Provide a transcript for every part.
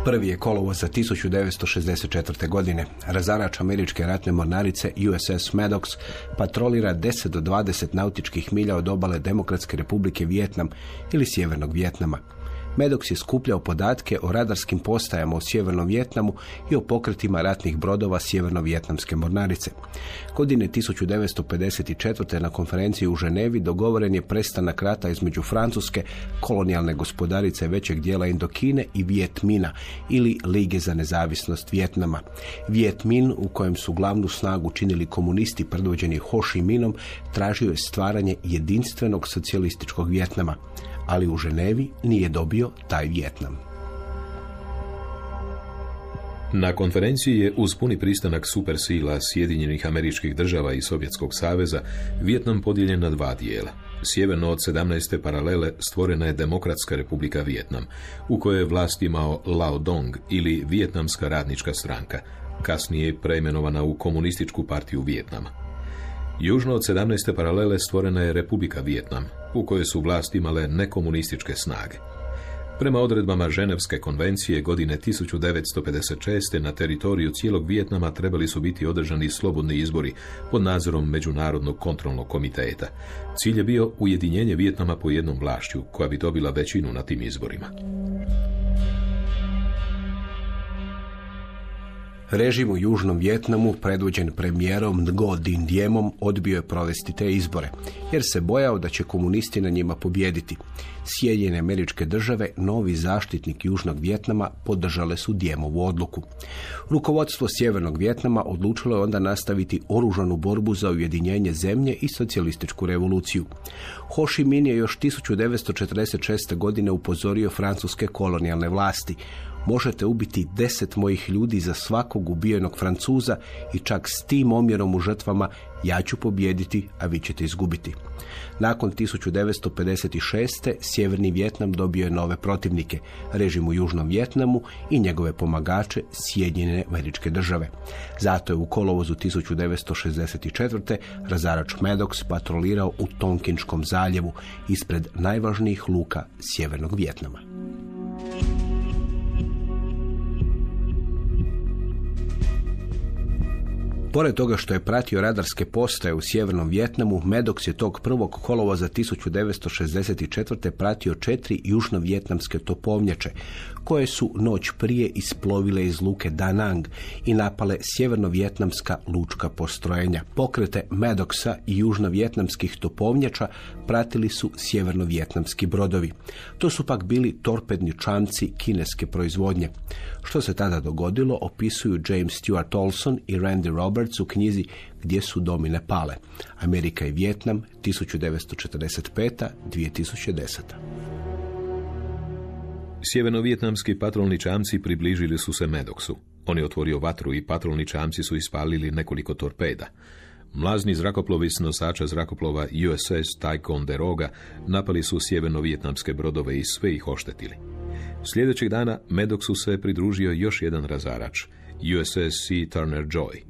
Prvi je kolovoza 1964. godine. Razarač američke ratne mornarice USS Maddox patrolira 10 do 20 nautičkih milja od obale Demokratske republike Vijetnam ili Sjevernog Vijetnama. Maddox je skupljao podatke o radarskim postajama u Sjevernom Vijetnamu i o pokretima ratnih brodova Sjeverno-vijetnamske mornarice. Godine 1954. na konferenciji u Ženevi dogovoren je prestanak rata između Francuske, kolonijalne gospodarice većeg dijela Indokine, i Vijetmina ili Lige za nezavisnost Vijetnama. Vijetmin, u kojem su glavnu snagu činili komunisti predvođeni Ho Chi Minhom, tražio je stvaranje jedinstvenog socijalističkog Vijetnama, ali u Ženevi nije dobio taj Vijetnam. Na konferenciji je uz puni pristanak supersila Sjedinjenih Američkih Država i Sovjetskog saveza Vijetnam podijeljen na dva dijela. Sjeverno od 17. paralele stvorena je Demokratska republika Vijetnam, u kojoj je vlast imao Lao Dong ili Vijetnamska radnička stranka, kasnije preimenovana u Komunističku partiju Vijetnama. Južno od 17. paralele stvorena je Republika Vijetnam, u kojoj su vlast imale nekomunističke snage. Prema odredbama Ženevske konvencije godine 1956. na teritoriju cijelog Vijetnama trebali su biti održani slobodni izbori pod nadzorom Međunarodnog kontrolnog komiteta. Cilj je bio ujedinjenje Vijetnama po jednom vlašću, koja bi dobila većinu na tim izborima. Režim u Južnom Vijetnamu, predvođen premijerom Ngo Dinh Diemom, odbio je provesti te izbore, jer se bojao da će komunisti na njima pobijediti. Sjedinjene Američke Države, novi zaštitnik Južnog Vijetnama, podržale su Diemovu odluku. Rukovodstvo Sjevernog Vijetnama odlučilo je onda nastaviti oružanu borbu za ujedinjenje zemlje i socijalističku revoluciju. Ho Chi Minh je još 1946. godine upozorio francuske kolonijalne vlasti: možete ubiti 10 mojih ljudi za svakog ubijenog Francuza i čak s tim omjerom u žrtvama ja ću pobijediti, a vi ćete izgubiti. Nakon 1956. Sjeverni Vijetnam dobio je nove protivnike, režim u Južnom Vijetnamu i njegove pomagače Sjedinjene Američke Države. Zato je u kolovozu 1964. razarač Maddox patrolirao u Tonkinškom zaljevu ispred najvažnijih luka Sjevernog Vijetnama. Pored toga što je pratio radarske postaje u Sjevernom Vijetnamu, Maddox je tog 1. kolovoza 1964. pratio 4 južno-vijetnamske topovnjače, koje su noć prije isplovile iz luke Da Nang i napale sjeverno-vijetnamska lučka postrojenja. Pokrete Maddoxa i južno-vijetnamskih topovnjača pratili su sjeverno-vijetnamski brodovi. To su pak bili torpedni čamci kineske proizvodnje. Što se tada dogodilo, opisuju James Stewart Olson i Randy Roberts u knjizi Gdje su domine pale. Amerika i Vijetnam, 1945-2010. Sjeverno-vijetnamski patrolni čamci približili su se Maddoxu. On je otvorio vatru i patrolni čamci su ispalili nekoliko torpeda. Mlazni zrakoplovi s nosača zrakoplova USS Ticonderoga napali su sjeverno-vijetnamske brodove i sve ih oštetili. Sljedećeg dana Maddoxu se pridružio još jedan razarač, USS C. Turner Joy.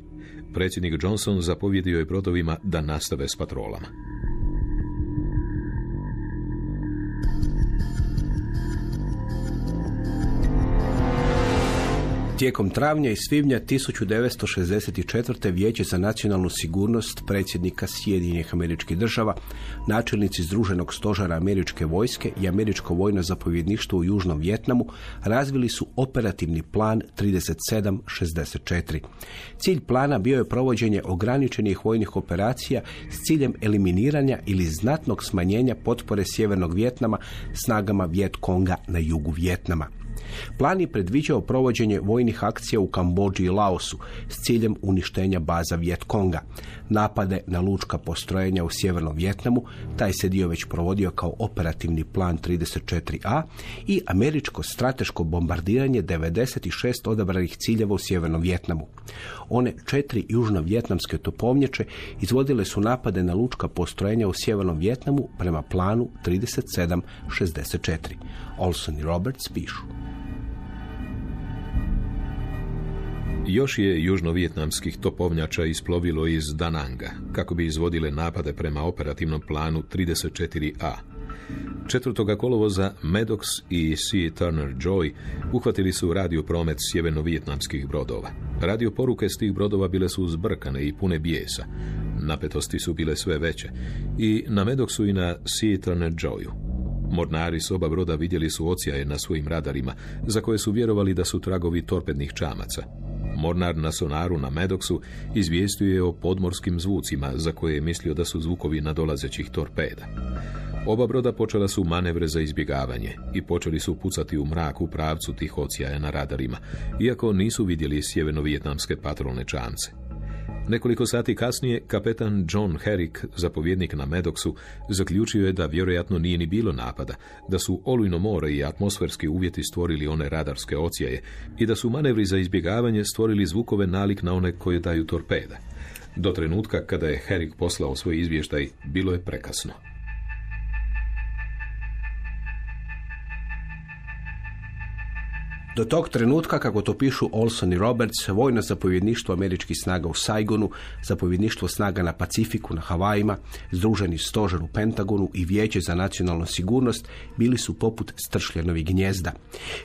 Predsjednik Johnson zapovjedio je brodovima da nastave s patrolama. Tijekom travnja i svibnja 1964. Vijeće za nacionalnu sigurnost predsjednika Sjedinjenih Američkih Država, načelnici Združenog stožera američke vojske i američko vojno zapovjedništvo u Južnom Vijetnamu razvili su operativni plan 3764. Cilj plana bio je provođenje ograničenih vojnih operacija s ciljem eliminiranja ili znatnog smanjenja potpore Sjevernog Vijetnama snagama Vijet Konga na jugu Vijetnama. Plan je predviđao provođenje vojnih akcija u Kambodži i Laosu s ciljem uništenja baza Vijet Konga, napade na lučka postrojenja u Sjevernom Vijetnamu, taj se dio već provodio kao operativni plan 34A, i američko strateško bombardiranje 96 odabranih ciljeva u Sjevernom Vijetnamu. One 4 južno-vijetnamske topovnjače izvodile su napade na lučka postrojenja u Sjevernom Vijetnamu prema planu 3764. Olson i Roberts pišu: Još je južno-vijetnamskih topovnjača isplovilo iz Da Nanga kako bi izvodile napade prema operativnom planu 34A. 4. kolovoza Maddox i C. Turner Joy uhvatili su radiopromet sjeverno-vijetnamskih brodova. Radio poruke s tih brodova bile su zbrkane i pune bijesa. Napetosti su bile sve veće. I na Maddoxu i na C. Turner Joyu. Mornari s oba broda vidjeli su odsjaje na svojim radarima, za koje su vjerovali da su tragovi torpednih čamaca. Mornar na sonaru na Maddoxu izvijestio je o podmorskim zvucima, za koje je mislio da su zvukovi nadolazećih torpeda. Oba broda počela su manevre za izbjegavanje i počeli su pucati u mrak u pravcu tih odsjaja na radarima, iako nisu vidjeli sjeverno-vijetnamske patrolne čamce. Nekoliko sati kasnije, kapetan John Herrick, zapovjednik na Maddoxu, zaključio je da vjerojatno nije ni bilo napada, da su olujno more i atmosferski uvjeti stvorili one radarske odsjaje i da su manevri za izbjegavanje stvorili zvukove nalik na one koje daju torpeda. Do trenutka kada je Herrick poslao svoj izvještaj, bilo je prekasno. Do tog trenutka, kako to pišu Olson i Roberts, vojno zapovjedništvo američkih snaga u Saigonu, zapovjedništvo snaga na Pacifiku, na Havajima, združeni stožer u Pentagonu i Vijeće za nacionalnu sigurnost bili su poput stršljanovih gnjezda.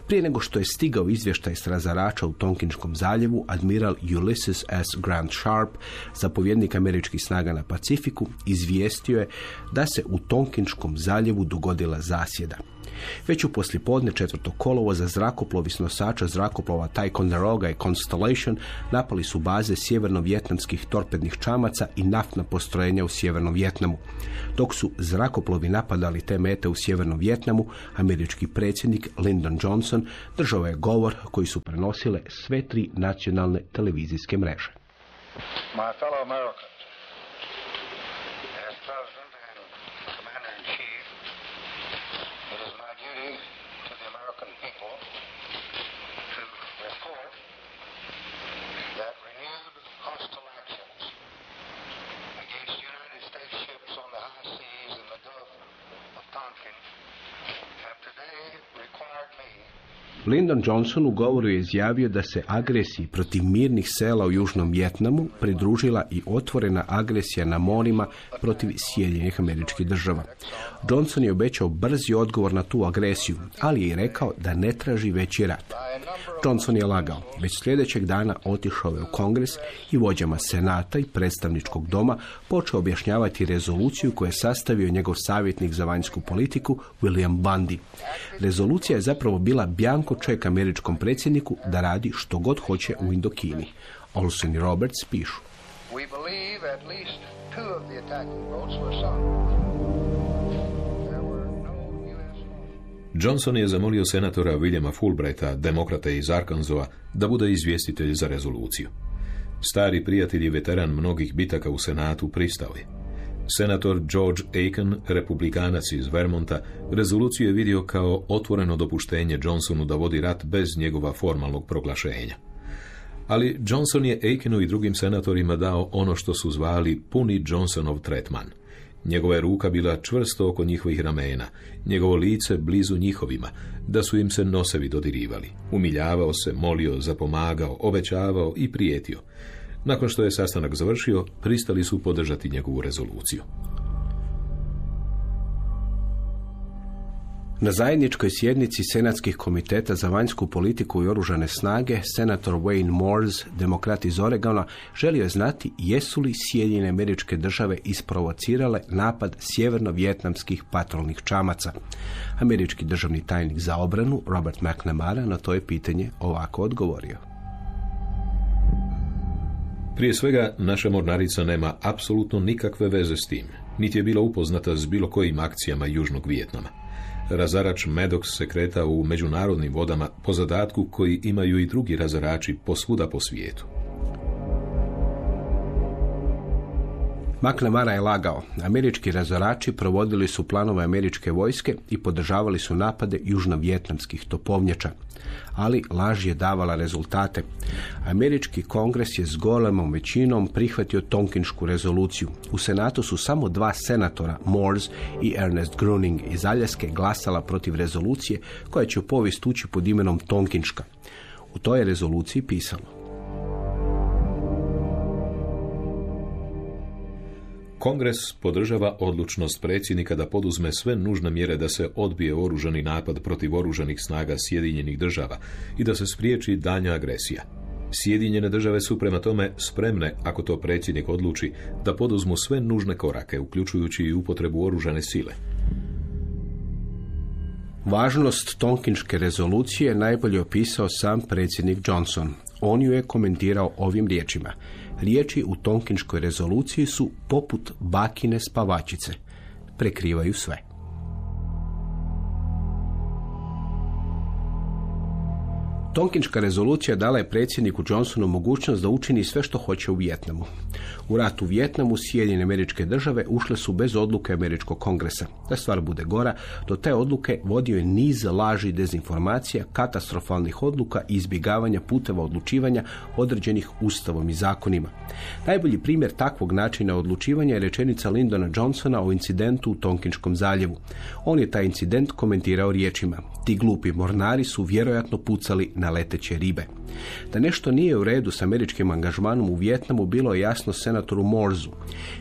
Prije nego što je stigao izvještaj s razarača u Tonkinškom zaljevu, admiral Ulysses S. Grant Sharp, zapovjednik američkih snaga na Pacifiku, izvijestio je da se u Tonkinškom zaljevu dogodila zasjeda. Već u poslijepodne 4. kolovoza zrakoplovi s nosača zrakoplova Ticonderoga i Constellation napali su baze sjeverno-vjetnamskih torpednih čamaca i naftna postrojenja u sjevernom Vjetnamu. Dok su zrakoplovi napadali te mete u sjevernom Vjetnamu, američki predsjednik Lyndon Johnson držao je govor koji su prenosile sve 3 nacionalne televizijske mreže. My fellow Americans, as President and Commander-in-Chief, it is my duty to the American people to report that renewed hostile actions against United States ships on the high seas in the Gulf of Tonkin have today required me. Lyndon Johnson u govoru je izjavio da se agresiji protiv mirnih sela u Južnom Vjetnamu pridružila i otvorena agresija na morima protiv Sjedinjenih Američkih Država. Johnson je obećao brzi odgovor na tu agresiju, ali je i rekao da ne traži veći rat. Johnson je lagao. Već sljedećeg dana otišao je u Kongres i vođama Senata i predstavničkog doma počeo objašnjavati rezoluciju koju je sastavio njegov savjetnik za vanjsku politiku William Bundy. Rezolucija je zapravo bila bjanko ček američkom predsjedniku da radi što god hoće u Indokini. Olson i Roberts pišu. We believe at least 2 of the attacking boats were sunk. There were no U.S. Johnson je zamolio senatora Williama Fulbrighta, demokrata iz Arkansasa, da bude izvjestitelj za rezoluciju. Stari prijatelj i veteran mnogih bitaka u Senatu pristao je. Senator George Aiken, republikanac iz Vermonta, rezoluciju je vidio kao otvoreno dopuštenje Johnsonu da vodi rat bez njegova formalnog proglašenja. Ali Johnson je Aikenu i drugim senatorima dao ono što su zvali puni Johnsonov tretman. Njegova je ruka bila čvrsto oko njihovih ramena, njegovo lice blizu njihovima, da su im se nosevi dodirivali. Umiljavao se, molio, zapomagao, obećavao i prijetio. Nakon što je sastanak završio, pristali su podržati njegovu rezoluciju. Na zajedničkoj sjednici Senatskih komiteta za vanjsku politiku i oružane snage, senator Wayne Moores, demokrat iz Oregona, želio je znati jesu li Sjedinjene Američke Države isprovocirale napad sjeverno-vjetnamskih patrolnih čamaca. Američki državni tajnik za obranu, Robert McNamara, na to je pitanje ovako odgovorio. Prije svega, naša mornarica nema apsolutno nikakve veze s tim, niti je bila upoznata s bilo kojim akcijama Južnog Vijetnama. Razarač Maddox se kretao u međunarodnim vodama po zadatku koji imaju i drugi razarači posvuda po svijetu. McNamara je lagao. Američki razarači provodili su planove američke vojske i podržavali su napade južnovjetnamskih topovnjača. Ali laž je davala rezultate. Američki kongres je s golemom većinom prihvatio Tonkinsku rezoluciju. U Senatu su samo 2 senatora, Moores i Ernest Gruning iz Aljaske, glasala protiv rezolucije koja će u povijest ući pod imenom Tonkinška. U toj rezoluciji pisalo: Kongres podržava odlučnost predsjednika da poduzme sve nužne mjere da se odbije oružani napad protiv oružanih snaga Sjedinjenih država i da se spriječi daljnja agresija. Sjedinjene države su prema tome spremne, ako to predsjednik odluči, da poduzmu sve nužne korake, uključujući i upotrebu oružane sile. Važnost Tonkinške rezolucije najbolje opisao sam predsjednik Johnson. On ju je komentirao ovim riječima. Riječi u Tonkinškoj rezoluciji su poput bakine spavačice. Prekrivaju sve. Tonkinška rezolucija dala je predsjedniku Johnsonu mogućnost da učini sve što hoće u Vijetnamu. U rat u Vijetnamu Sjedinjene Američke Države ušle su bez odluke Američkog kongresa. Da stvar bude gora, do te odluke vodio je niz laži i dezinformacija, katastrofalnih odluka i izbjegavanja puteva odlučivanja određenih ustavom i zakonima. Najbolji primjer takvog načina odlučivanja je rečenica Lyndona Johnsona o incidentu u Tonkinškom zaljevu. On je taj incident komentirao riječima: ti glupi mornari su vjerojatno pucali na leteće ribe. Da nešto nije u redu s američkim angažmanom u Vijetnamu bilo je jasno senatoru Morsu.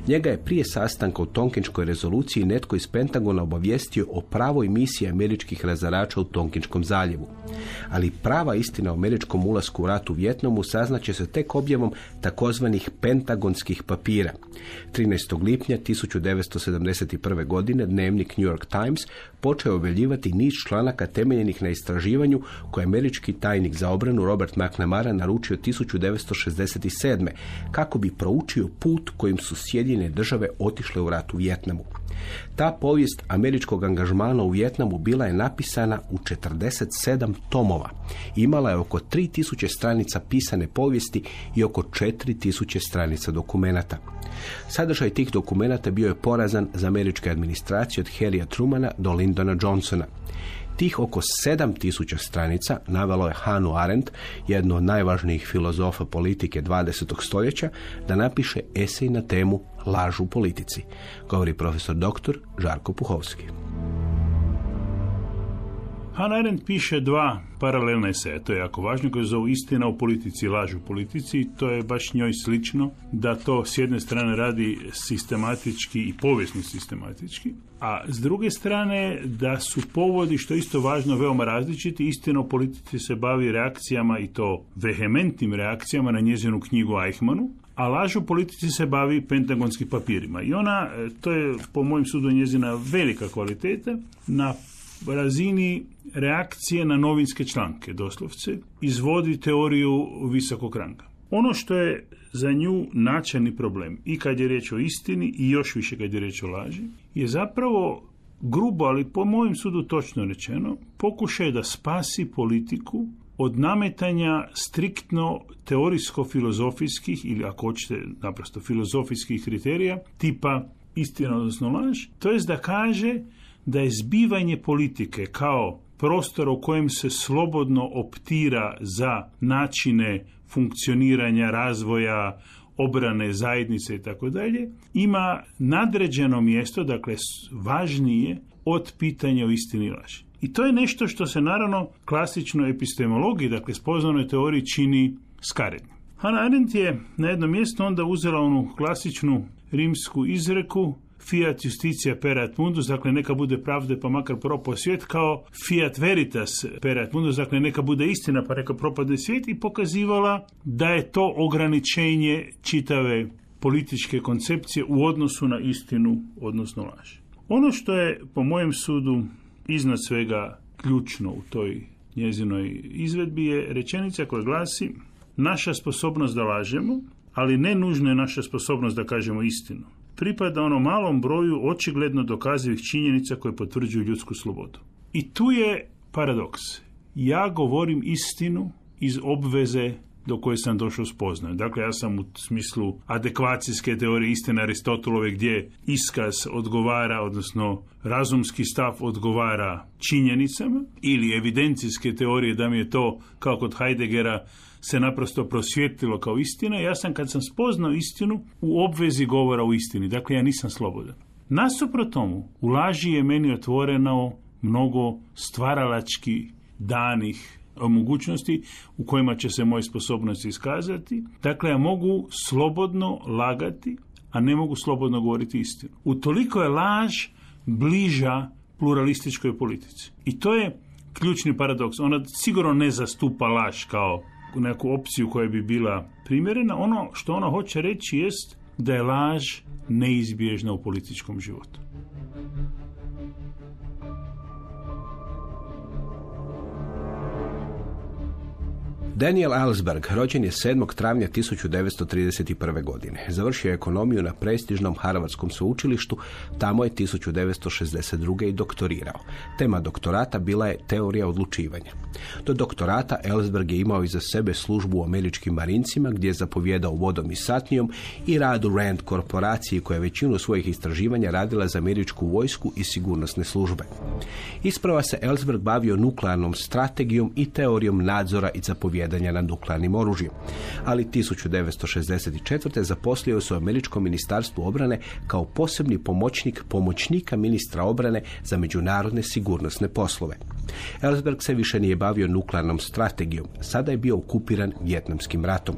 Njega je prije sastanka u Tonkinškoj rezoluciji netko iz Pentagona obavijestio o pravoj misiji američkih razarača u Tonkinškom zaljevu. Ali prava istina o američkom ulasku u rat u Vijetnamu saznaće se tek objavom takozvanih pentagonskih papira. 13. lipnja 1971. godine dnevnik New York Times počeo objavljivati niz članaka temeljenih na istraživanju koje američki tajnik za obranu Robert McNamara naručio 1967. kako bi proučio put kojim su Sjedinjene države otišle u rat u Vijetnamu. Ta povijest američkog angažmana u Vijetnamu bila je napisana u 47 tomova. Imala je oko 3000 stranica pisane povijesti i oko 4000 stranica dokumenata. Sadržaj tih dokumenata bio je porazan za američke administracije od Harrya Trumana do Lyndona Johnsona. Tih oko 7000 stranica navelo je Hannah Arendt, jednu od najvažnijih filozofa politike 20. stoljeća, da napiše esej na temu Laž u politici, govori profesor dr. Žarko Puhovski. Hannah Arendt piše dva paralelna eseja, to je jako važno, koje zovu Istina u politici i Laž u politici. To je baš njoj slično da to s jedne strane radi sistematički i povijesno sistematički, a s druge strane da su povodi, što je isto važno, veoma različiti. Istina u politici se bavi reakcijama, i to vehementnim reakcijama, na njezinu knjigu Eichmannu, a Laž u politici se bavi pentagonskim papirima. I ona, to je po mojem sudu njezina velika kvaliteta, na razini reakcije na novinske članke, doslovce, izvodi teoriju visokog ranga. Ono što je za nju načelni problem, i kad je riječ o istini i još više kad je riječ o laži, je zapravo grubo, ali po mojem sudu točno rečeno, pokušaj da spasi politiku od nametanja striktno teorijsko-filozofijskih, ili ako hoćete naprosto filozofijskih kriterija, tipa istina odnosno laž, to jest da kaže da je zbivanje politike kao prostor u kojem se slobodno optira za načine funkcioniranja, razvoja, obrane zajednice i tako dalje, ima nadređeno mjesto, dakle važnije od pitanja o istini i laži. I to je nešto što se naravno klasičnoj epistemologiji, dakle spoznanoj teoriji, čini skarednim. Hannah Arendt je na jednom mjestu onda uzela onu klasičnu rimsku izreku fiat justitia perat mundus, dakle neka bude pravde pa makar propao svijet, kao fiat veritas perat mundus, dakle neka bude istina pa neka propadne svijet, i pokazivala da je to ograničenje čitave političke koncepcije u odnosu na istinu, odnosno laž. Ono što je po mojem sudu iznad svega ključno u toj njezinoj izvedbi je rečenica koja glasi: naša sposobnost da lažemo, ali ne nužno je naša sposobnost da kažemo istinu, pripada onom malom broju očigledno dokazivih činjenica koje potvrđuju ljudsku slobodu. I tu je paradoks. Ja govorim istinu iz obveze do koje sam došao spoznaju. Dakle, ja sam u smislu adekvacijske teorije istine Aristotelove, gdje iskaz odgovara, odnosno razumski stav odgovara činjenicama, ili evidencijske teorije da mi je to, kao kod Heideggera, se naprosto prosvjetlilo kao istina. Ja sam, kad sam spoznao istinu, u obvezi govora o istini. Dakle, ja nisam slobodan. Nasuprot tomu, u laži je meni otvoreno mnogo stvaralački danih mogućnosti u kojima će se moje sposobnosti iskazati. Dakle, ja mogu slobodno lagati, a ne mogu slobodno govoriti istinu. Utoliko je laž bliža pluralističkoj politici. I to je ključni paradoks. Ona sigurno ne zastupa laž kao neku opciju koja bi bila primjerena. Ono što ona hoće reći jest da je laž neizbježna u političkom životu. Daniel Ellsberg rođen je 7. travnja 1931. godine. Završio je ekonomiju na prestižnom Harvardskom sveučilištu, tamo je 1962. i doktorirao. Tema doktorata bila je teorija odlučivanja. Do doktorata Ellsberg je imao iza sebe službu u američkim marincima, gdje je zapovjedao vodom i satnijom, i rad u Rand korporaciji, koja je većinu svojih istraživanja radila za američku vojsku i sigurnosne službe. Isprva se Ellsberg bavio nuklearnom strategijom i teorijom nadzora i zapovjedanja nad nuklearnim oružjem, ali 1964. zaposlio se u Američkom ministarstvu obrane kao posebni pomoćnik pomoćnika ministra obrane za međunarodne sigurnosne poslove. Ellsberg se više nije bavio nuklearnom strategijom, sada je bio okupiran Vijetnamskim ratom.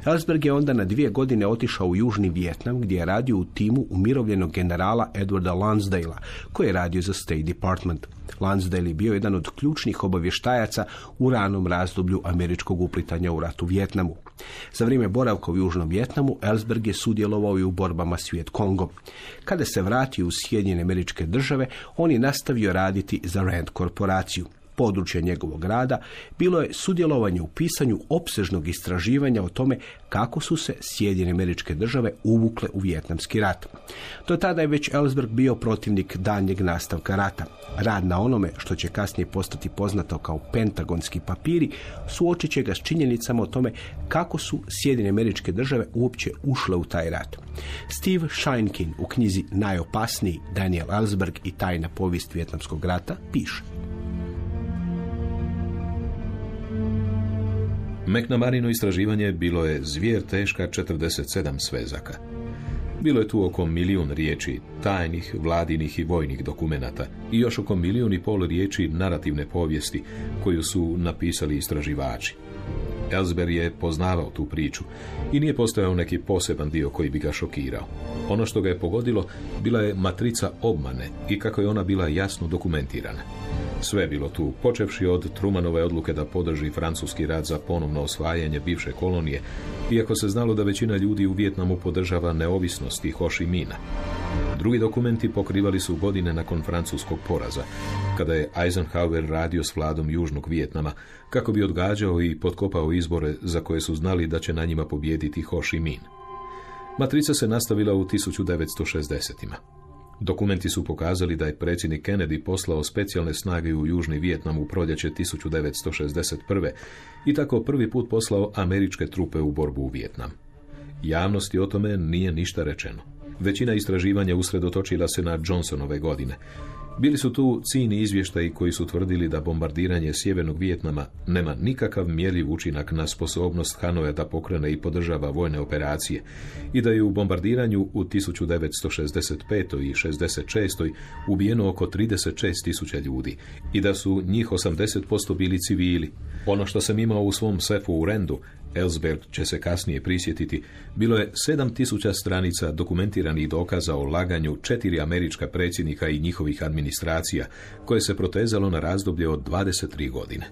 Ellsberg je onda na 2 godine otišao u Južni Vijetnam, gdje je radio u timu umirovljenog generala Edwarda Lansdalea, koji je radio za State Department. Lansdale je bio jedan od ključnih obavještajaca u ranom razdoblju američkog uplitanja u rat u Vijetnamu. Za vrijeme boravka u Južnom Vijetnamu Ellsberg je sudjelovao i u borbama s Vietkongom. Kada se vratio u Sjedinjene Američke Države, on je nastavio raditi za Rand korporaciju. Područje njegovog rada bilo je sudjelovanje u pisanju opsežnog istraživanja o tome kako su se Sjedinjene Američke Države uvukle u Vijetnamski rat. Do tada je već Ellsberg bio protivnik daljnjeg nastavka rata. Rad na onome što će kasnije postati poznato kao pentagonski papiri suočit će ga s činjenicama o tome kako su Sjedinjene Američke Države uopće ušle u taj rat. Steve Sheinkin u knjizi Najopasniji Daniel Ellsberg i tajna povijest Vijetnamskog rata piše: McNamarino istraživanje bilo je zvijer teška 47 svezaka. Bilo je tu oko 1 milijun riječi tajnih, vladinih i vojnih dokumenata i još oko 1,5 milijuna riječi narativne povijesti koju su napisali istraživači. Ellsberg je poznavao tu priču i nije postojao neki poseban dio koji bi ga šokirao. Ono što ga je pogodilo bila je matrica obmane i kako je ona bila jasno dokumentirana. Sve je bilo tu, počevši od Trumanove odluke da podrži francuski rat za ponovno osvajanje bivše kolonije, iako se znalo da većina ljudi u Vijetnamu podržava neovisnost i Ho Chi Mina. Drugi dokumenti pokrivali su godine nakon francuskog poraza, kada je Eisenhower radio s vladom Južnog Vijetnama, kako bi odgađao i potkopao izbore za koje su znali da će na njima pobijediti Ho Chi Minh. Matrica se nastavila u 1960-ima. Dokumenti su pokazali da je predsjednik Kennedy poslao specijalne snage u Južni Vijetnam u proljeće 1961. i tako prvi put poslao američke trupe u borbu u Vijetnam. Javnosti o tome nije ništa rečeno. Većina istraživanja usredotočila se na Johnsonove godine. Bili su tu ciljni izvještaji koji su tvrdili da bombardiranje Sjevernog Vijetnama nema nikakav mjerljiv učinak na sposobnost Hanoja da pokrene i podržava vojne operacije i da je u bombardiranju u 1965. i 66. ubijeno oko 36.000 ljudi i da su njih 80% bili civili. Ono što sam imao u svom sefu u Randu, Ellsberg će se kasnije prisjetiti, bilo je 7.000 stranica dokumentiranih dokaza o laganju 4 američka predsjednika i njihovih administracija, koje se protezalo na razdoblje od 23 godine.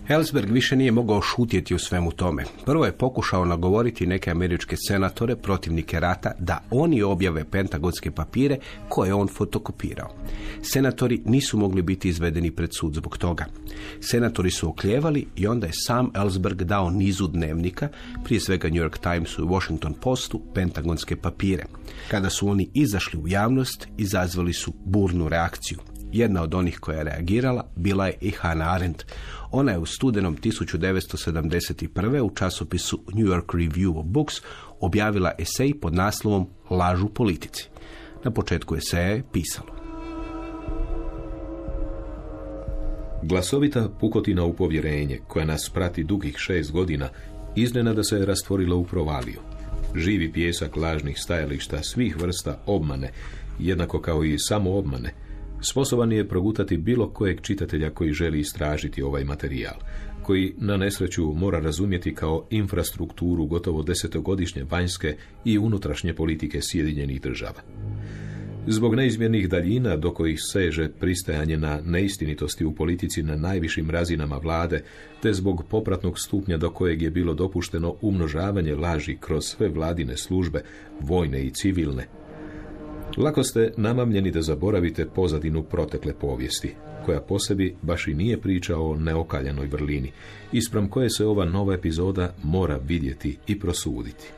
Ellsberg više nije mogao šutjeti u svemu tome. Prvo je pokušao nagovoriti neke američke senatore, protivnike rata, da oni objave pentagonske papire koje je on fotokopirao. Senatori nisu mogli biti izvedeni pred sud zbog toga. Senatori su oklijevali i onda je sam Ellsberg dao nizu dnevnika, prije svega New York Timesu i Washington Postu, pentagonske papire. Kada su oni izašli u javnost, izazvali su burnu reakciju. Jedna od onih koja je reagirala bila je i Hannah Arendt. Ona je u studenom 1971. u časopisu New York Review of Books objavila esej pod naslovom Laž u politici. Na početku eseja je pisalo: Glasovita pukotina u povjerenje, koja nas prati dugih 6 godina, iznenada se rastvorila u provaliju. Živi pjesak lažnih stajališta svih vrsta obmane jednako kao i samoobmane, sposoban je progutati bilo kojeg čitatelja koji želi istražiti ovaj materijal, koji na nesreću mora razumjeti kao infrastrukturu gotovo 10-godišnje vanjske i unutrašnje politike Sjedinjenih Država. Zbog neizmjernih daljina do kojih seže pristajanje na neistinitosti u politici na najvišim razinama vlade, te zbog popratnog stupnja do kojeg je bilo dopušteno umnožavanje laži kroz sve vladine službe, vojne i civilne, lako ste namamljeni da zaboravite pozadinu protekle povijesti, koja po sebi baš i nije priča o neokaljanoj vrlini, ispram koje se ova nova epizoda mora vidjeti i prosuditi.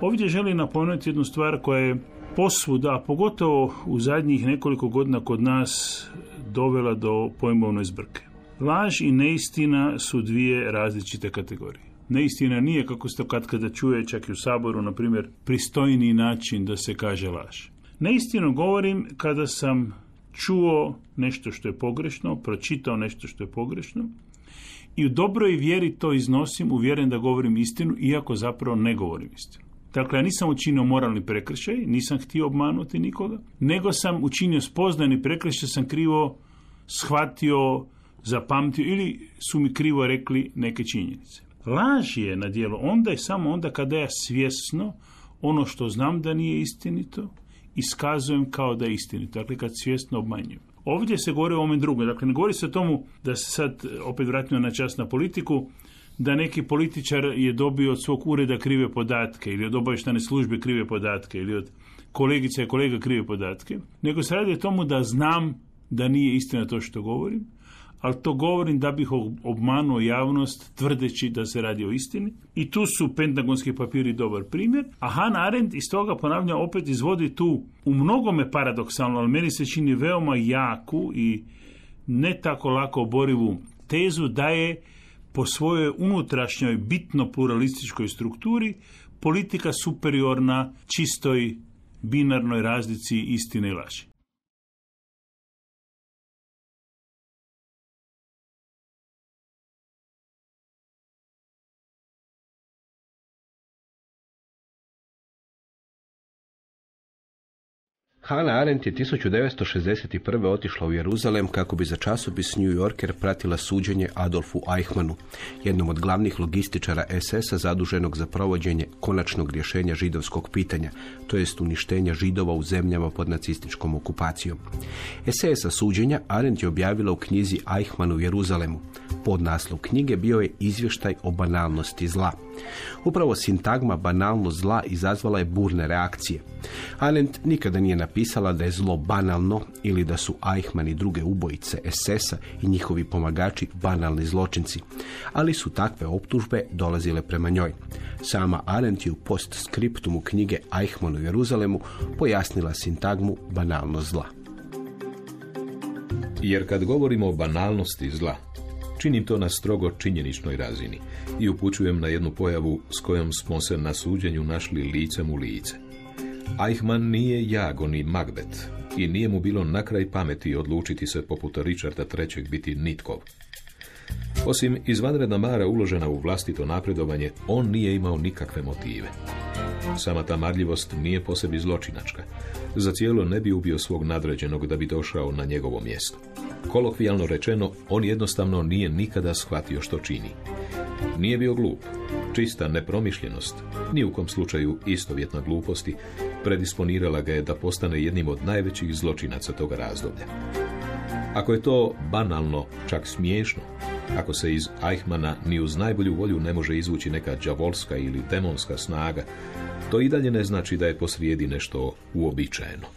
Ovdje želim napomenuti jednu stvar koja je posvuda, a pogotovo u zadnjih nekoliko godina kod nas dovela do pojmovne zbrke. Laž i neistina su dvije različite kategorije. Neistina nije, kako se to kada čuje čak i u Saboru, na primjer, pristojniji način da se kaže laž. Neistinu govorim kada sam čuo nešto što je pogrešno, pročitao nešto što je pogrešno i u dobroj vjeri to iznosim, uvjeren da govorim istinu, iako zapravo ne govorim istinu. Dakle, ja nisam učinio moralni prekršaj, nisam htio obmanuti nikoga, nego sam učinio spoznani prekršaj, sam krivo shvatio, zapamtio ili su mi krivo rekli neke činjenice. Laž je na djelu onda i samo onda kada ja svjesno ono što znam da nije istinito iskazujem kao da je istinito, dakle kad svjesno obmanjujem. Ovdje se govori o ovome drugom, dakle ne govori se o tomu da se sad opet vratimo na čas na politiku, da neki političar je dobio od svog ureda krive podatke ili od obavještajne službe krive podatke ili od kolegica i kolega krive podatke, nego se radi o tomu da znam da nije istina to što govorim, ali to govorim da bih obmanuo javnost tvrdeći da se radi o istini. I tu su pentagonski papiri dobar primjer, a Hannah Arendt iz toga, ponavljam, opet izvodi tu u mnogome paradoksalno, ali meni se čini veoma jaku i ne tako lako oborivu tezu da je po svojoj unutrašnjoj bitno pluralističkoj strukturi politika superiorna čistoj binarnoj razlici istine i laži. Hannah Arendt je 1961. otišla u Jeruzalem kako bi za časopis New Yorker pratila suđenje Adolfu Eichmannu, jednom od glavnih logističara SS-a zaduženog za provođenje konačnog rješenja židovskog pitanja, to jest uništenja Židova u zemljama pod nacističkom okupacijom. SS-a suđenja Arendt je objavila u knjizi Eichmann u Jeruzalemu. Podnaslov knjige bio je izvještaj o banalnosti zla. Upravo sintagma banalnost zla izazvala je burne reakcije. Arendt nikada nije napisala da je zlo banalno ili da su Eichmann i druge ubojice SS-a i njihovi pomagači banalni zločinci, ali su takve optužbe dolazile prema njoj. Sama Arendt je u postskriptumu knjige Eichmann u Jeruzalemu pojasnila sintagmu banalnost zla. Jer kad govorimo o banalnosti zla, činim to na strogo činjeničnoj razini i upućujem na jednu pojavu s kojom smo se na suđenju našli licem u lice. Eichmann nije Jago ni Macbeth i nije mu bilo na kraj pameti odlučiti se poput Richarda III. Biti nitkov. Osim izvanredna mara uložena u vlastito napredovanje, on nije imao nikakve motive. Sama ta marljivost nije po sebi zločinačka. Za cijelo ne bi ubio svog nadređenog da bi došao na njegovo mjesto. Kolokvijalno rečeno, on jednostavno nije nikada shvatio što čini. Nije bio glup. Čista nepromišljenost, ni u kom slučaju istovjetna gluposti, predisponirala ga je da postane jednim od najvećih zločinaca toga razdoblja. Ako je to banalno, čak smiješno, ako se iz Eichmanna ni uz najbolju volju ne može izvući neka đavolska ili demonska snaga, to i dalje ne znači da je posrijedi nešto uobičajeno.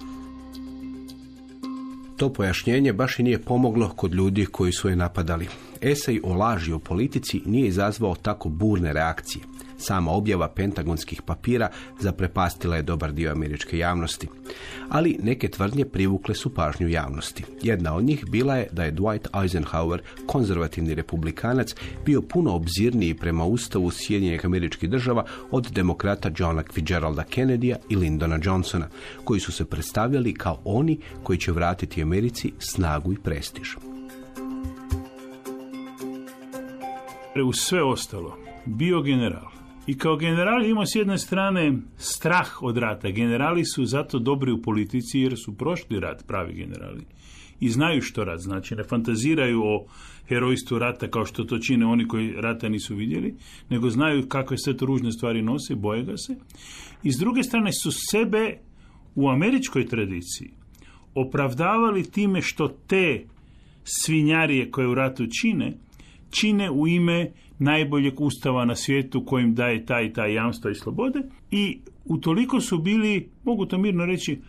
To pojašnjenje baš i nije pomoglo kod ljudi koji su je napadali. Esej o laži o politici nije izazvao tako burne reakcije. Sama objava pentagonskih papira zaprepastila je dobar dio američke javnosti. Ali neke tvrdnje privukle su pažnju javnosti. Jedna od njih bila je da je Dwight Eisenhower, konzervativni republikanac, bio puno obzirniji prema Ustavu Sjedinjenih Američkih Država od demokrata Johna Fitzgeralda Kennedya i Lyndona Johnsona, koji su se predstavljali kao oni koji će vratiti Americi snagu i prestiž. Uz sve ostalo, bio general, I kao general ima s jedne strane strah od rata. Generali su zato dobri u politici jer su prošli rat, pravi generali. I znaju što rat znači. Ne fantaziraju o herojstvu rata kao što to čine oni koji rata nisu vidjeli, nego znaju kakve sve to ružne stvari nose, boje ga se. I s druge strane su sebe u američkoj tradiciji opravdavali time što te svinjarije koje u ratu čine u ime najboljeg ustava na svijetu kojim daje taj jamstva i slobode, i utoliko su bili, mogu to mirno reći,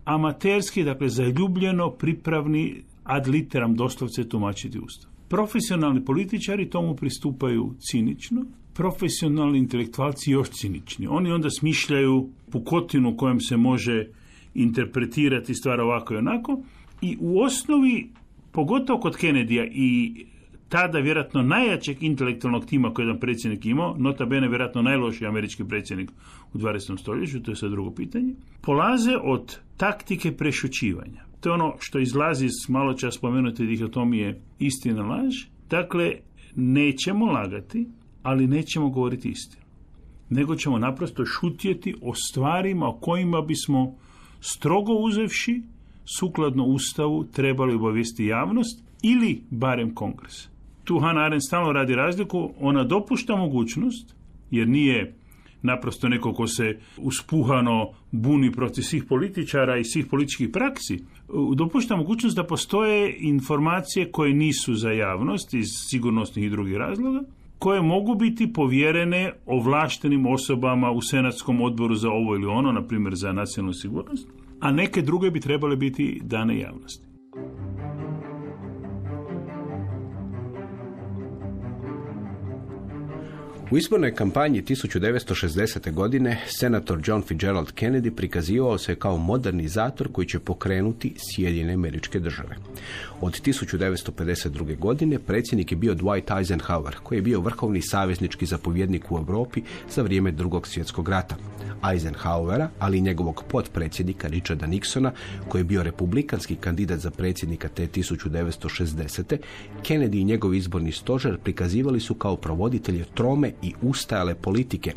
amaterski, dakle zaljubljeno pripravni ad literam doslovce tumačiti ustav. Profesionalni političari tomu pristupaju cinično, profesionalni intelektualci još cinični. Oni onda smišljaju pukotinu kojom se može interpretirati stvar ovako i onako, i u osnovi, pogotovo kod Kennedyja i tada vjerojatno najjačeg intelektualnog tima koji je jedan predsjednik imao, nota bene vjerojatno najlošiji američki predsjednik u 20. stoljeću, to je sad drugo pitanje, polaze od taktike prešućivanja. To je ono što izlazi iz malo čas spomenute dihotomije istina laž. Dakle, nećemo lagati, ali nećemo govoriti istinu. Nego ćemo naprosto šutjeti o stvarima o kojima bismo strogo uzevši, sukladno Ustavu, trebali obavijesti javnost ili barem Kongres. Tu Hannah Arendt stalno radi razliku, ona dopušta mogućnost, jer nije naprosto neko ko se uspuhano buni protiv svih političara i svih političkih praksi, dopušta mogućnost da postoje informacije koje nisu za javnost iz sigurnosnih i drugih razloga, koje mogu biti povjerene ovlaštenim osobama u Senatskom odboru za ovo ili ono, na primjer za nacionalnu sigurnost, a neke druge bi trebale biti dane javnosti. U izbornoj kampanji 1960. godine senator John Fitzgerald Kennedy prikazivao se kao modernizator koji će pokrenuti Sjedinjene Američke Države. Od 1952. godine predsjednik je bio Dwight Eisenhower, koji je bio vrhovni saveznički zapovjednik u Europi za vrijeme Drugog svjetskog rata. Eisenhowera, ali i njegovog potpredsjednika Richarda Nixona, koji je bio republikanski kandidat za predsjednika te 1960. Kennedy i njegov izborni stožer prikazivali su kao provoditelje trome i ustajale politike,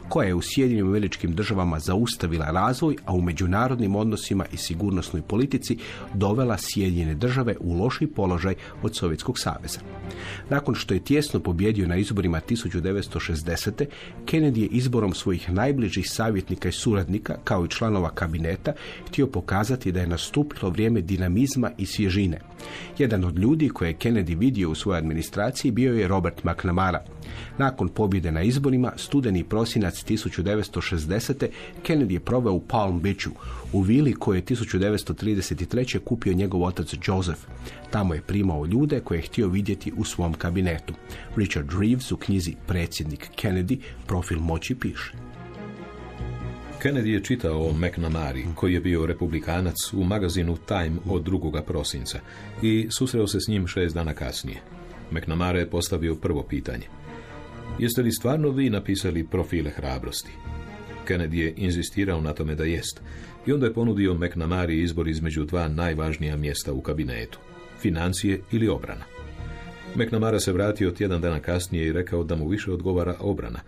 koja je u Sjedinjenim Američkim Državama zaustavila razvoj, a u međunarodnim odnosima i sigurnosnoj politici dovela Sjedinjene Države u lošiji položaj od Sovjetskog saveza. Nakon što je tijesno pobjedio na izborima 1960. Kennedy je izborom svojih najbližih savjetnika i suradnika, kao i članova kabineta, htio pokazati da je nastupilo vrijeme dinamizma i svježine. Jedan od ljudi koje je Kennedy vidio u svojoj administraciji bio je Robert McNamara. Nakon pobjede na izborima, studeni i prosinac 1960. Kennedy je proveo u Palm Beachu, u vili koju je 1933. kupio njegov otac Joseph. Tamo je primao ljude koje je htio vidjeti u svom kabinetu. Richard Reeves u knjizi Predsjednik Kennedy profil moći piše. Kennedy je čitao o McNamari, koji je bio republikanac, u magazinu Time od 2. prosinca i susreo se s njim 6 dana kasnije. McNamara je postavio prvo pitanje. Jeste li stvarno vi napisali profile hrabrosti? Kennedy je inzistirao na tome da jest i onda je ponudio McNamari izbor između dva najvažnija mjesta u kabinetu, financije ili obrana. McNamara se vratio tjedan dana kasnije i rekao da mu više odgovara obrana,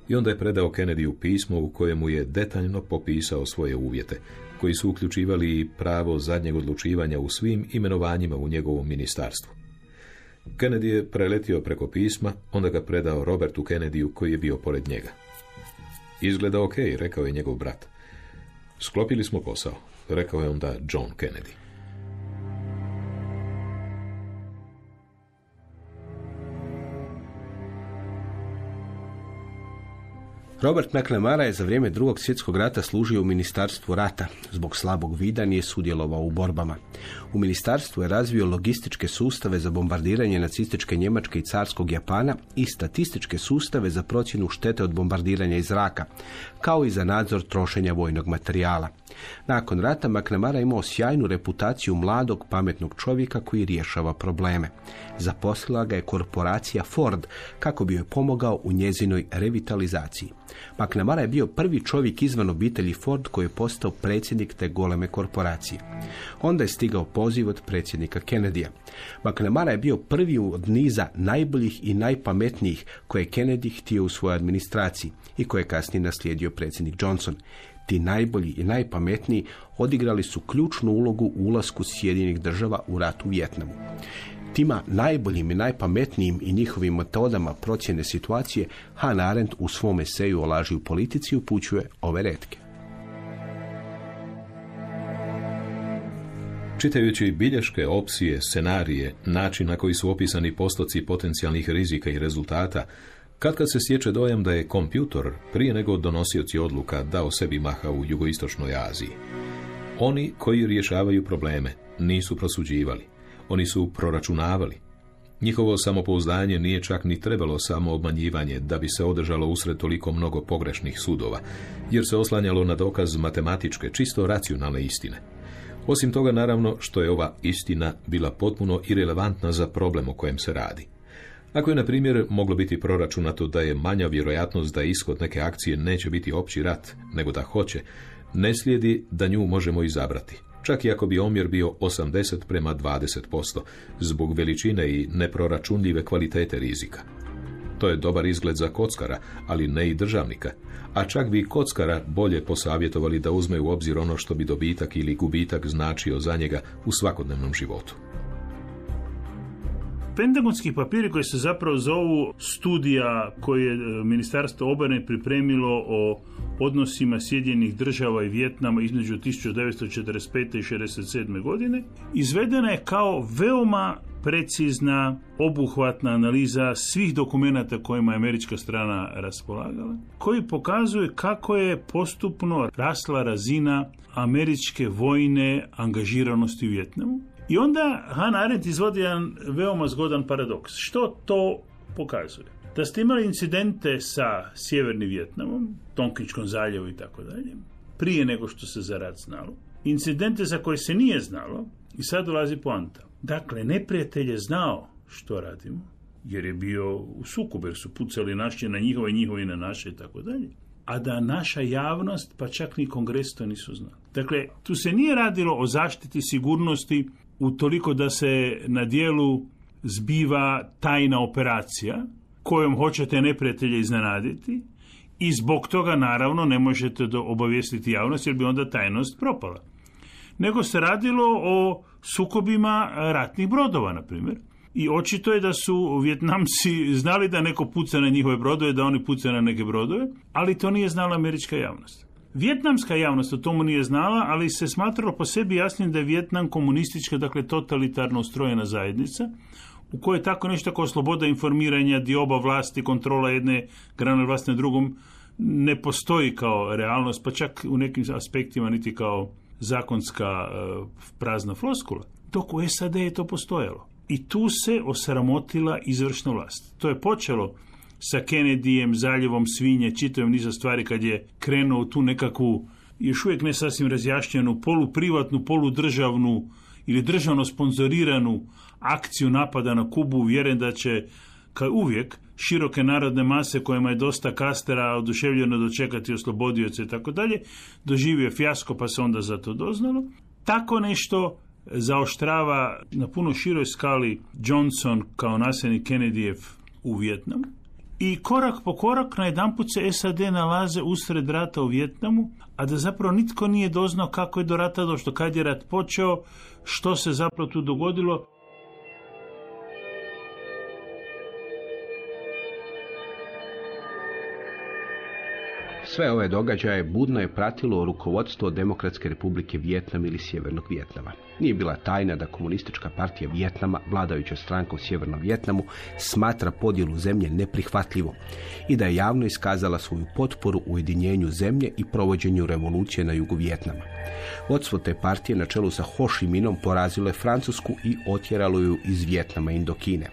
i onda je predao Kennedyu pismo u kojemu je detaljno popisao svoje uvjete, koji su uključivali i pravo zadnjeg odlučivanja u svim imenovanjima u njegovom ministarstvu. Kennedy je preletio preko pisma, onda ga predao Robertu Kennedyu, koji je bio pored njega. Izgleda ok, rekao je njegov brat. Sklopili smo posao, rekao je onda John Kennedy. Robert McNamara je za vrijeme Drugog svjetskog rata služio u Ministarstvu rata. Zbog slabog vida nije sudjelovao u borbama. U ministarstvu je razvio logističke sustave za bombardiranje nacističke Njemačke i carskog Japana i statističke sustave za procjenu štete od bombardiranja iz zraka, kao i za nadzor trošenja vojnog materijala. Nakon rata McNamara imao sjajnu reputaciju mladog, pametnog čovjeka koji rješava probleme. Zaposlila ga je korporacija Ford kako bi joj pomogao u njezinoj revitalizaciji. McNamara je bio prvi čovjek izvan obitelji Ford koji je postao predsjednik te goleme korporacije. Onda je stigao poziv od predsjednika Kennedyja. McNamara je bio prvi od niza najboljih i najpametnijih koje je Kennedy htio u svojoj administraciji i koje je kasnije naslijedio predsjednik Johnson. Ti najbolji i najpametniji odigrali su ključnu ulogu u ulasku Sjedinjenih država u rat u Vijetnamu. Tima najboljim i najpametnijim i njihovim metodama procjene situacije Hannah Arendt u svom eseju o laži u politici upućuje ove retke. Čitajući bilješke, opsije, scenarije, način na koji su opisani postoci potencijalnih rizika i rezultata, kad se stječe dojam da je kompjutor, prije nego donosioci odluka, dao sebi maha u jugoistočnoj Aziji. Oni koji rješavaju probleme nisu prosuđivali, oni su proračunavali. Njihovo samopouzdanje nije čak ni trebalo samo obmanjivanje da bi se održalo usred toliko mnogo pogrešnih sudova, jer se oslanjalo na dokaz matematičke, čisto racionalne istine. Osim toga, naravno, što je ova istina bila potpuno irelevantna za problem o kojem se radi. Ako je, na primjer, moglo biti proračunato da je manja vjerojatnost da ishod neke akcije neće biti opći rat, nego da hoće, ne slijedi da nju možemo izabrati, čak i ako bi omjer bio 80:20%, zbog veličine i neproračunljive kvalitete rizika. To je dobar izgled za kockara, ali ne i državnika, a čak bi kockara bolje posavjetovali da uzme u obzir ono što bi dobitak ili gubitak značio za njega u svakodnevnom životu. Pentagonski papiri koji se zapravo zovu studija koje je Ministarstvo obrane pripremilo o odnosima Sjedinjenih država i Vijetnama između 1945. i 1967. godine, izvedena je kao veoma precizna, obuhvatna analiza svih dokumenata kojima je američka strana raspolagala, koji pokazuje kako je postupno rasla razina američke vojne angažiranosti u Vijetnamu. I onda Hannah Arendt izvodi jedan veoma zgodan paradoks. Što to pokazuje? Da ste imali incidente sa Sjevernim Vijetnamom, Tonkinskom zaljevu i tako dalje, prije nego što se za rat znalo. Incidente za koje se nije znalo i sad dolazi poanta. Dakle, neprijatelj je znao što radimo, jer je bio u sukobu, jer su pucali naši na njihove, njihovi na naše i tako dalje. A da naša javnost, pa čak ni Kongres to nisu znali. Dakle, tu se nije radilo o zaštiti sigurnosti utoliko da se na dijelu zbiva tajna operacija kojom hoćete neprijatelje iznenaditi i zbog toga naravno ne možete obavijestiti javnost jer bi onda tajnost propala. Nego se radilo o sukobima ratnih brodova, na primjer. I očito je da su Vijetnamci znali da neko puca na njihove brodove, da oni pucaju na neke brodove, ali to nije znala američka javnost. Vijetnamska javnost o tomu nije znala, ali se smatralo po sebi jasnim da je Vijetnam komunistička, dakle totalitarno ustrojena zajednica, u kojoj tako nešto kao sloboda informiranja, dioba vlasti, kontrola jedne grane vlasti na drugom ne postoji kao realnost, pa čak u nekim aspektima niti kao zakonska prazna floskula. Dok u SAD je to postojalo. I tu se osramotila izvršna vlast. To je počelo sa Kennedyjem, zaljevom svinje, čitavim niza stvari kad je krenuo tu nekakvu, još uvijek ne sasvim razjašnjenu, poluprivatnu, poludržavnu ili državno sponzoriranu akciju napada na Kubu, uvjeren da će, kao uvijek, široke narodne mase kojima je dosta Kastera oduševljeno dočekati oslobodioce i tako dalje, doživio fijasko pa se onda za to doznalo. Tako nešto zaoštrava na puno široj skali Johnson kao nasljednik Kennedyjev u Vijetnamu. I korak po korak najedanput se SAD nalaze usred rata u Vijetnamu, a da zapravo nitko nije doznao kako je do rata došlo, kad je rat počeo, što se zapravo tu dogodilo. Sve ove događaje budno je pratilo rukovodstvo Demokratske republike Vijetnam ili Sjevernog Vijetnama. Nije bila tajna da komunistička partija Vijetnama, vladajuća stranka u Sjevernom Vijetnamu, smatra podjelu zemlje neprihvatljivom i da je javno iskazala svoju potporu ujedinjenju zemlje i provođenju revolucije na jugu Vijetnama. Vodstvo te partije na čelu sa Ho Chi Minhom porazilo je Francusku i otjeralo ju iz Vijetnama i Indokine.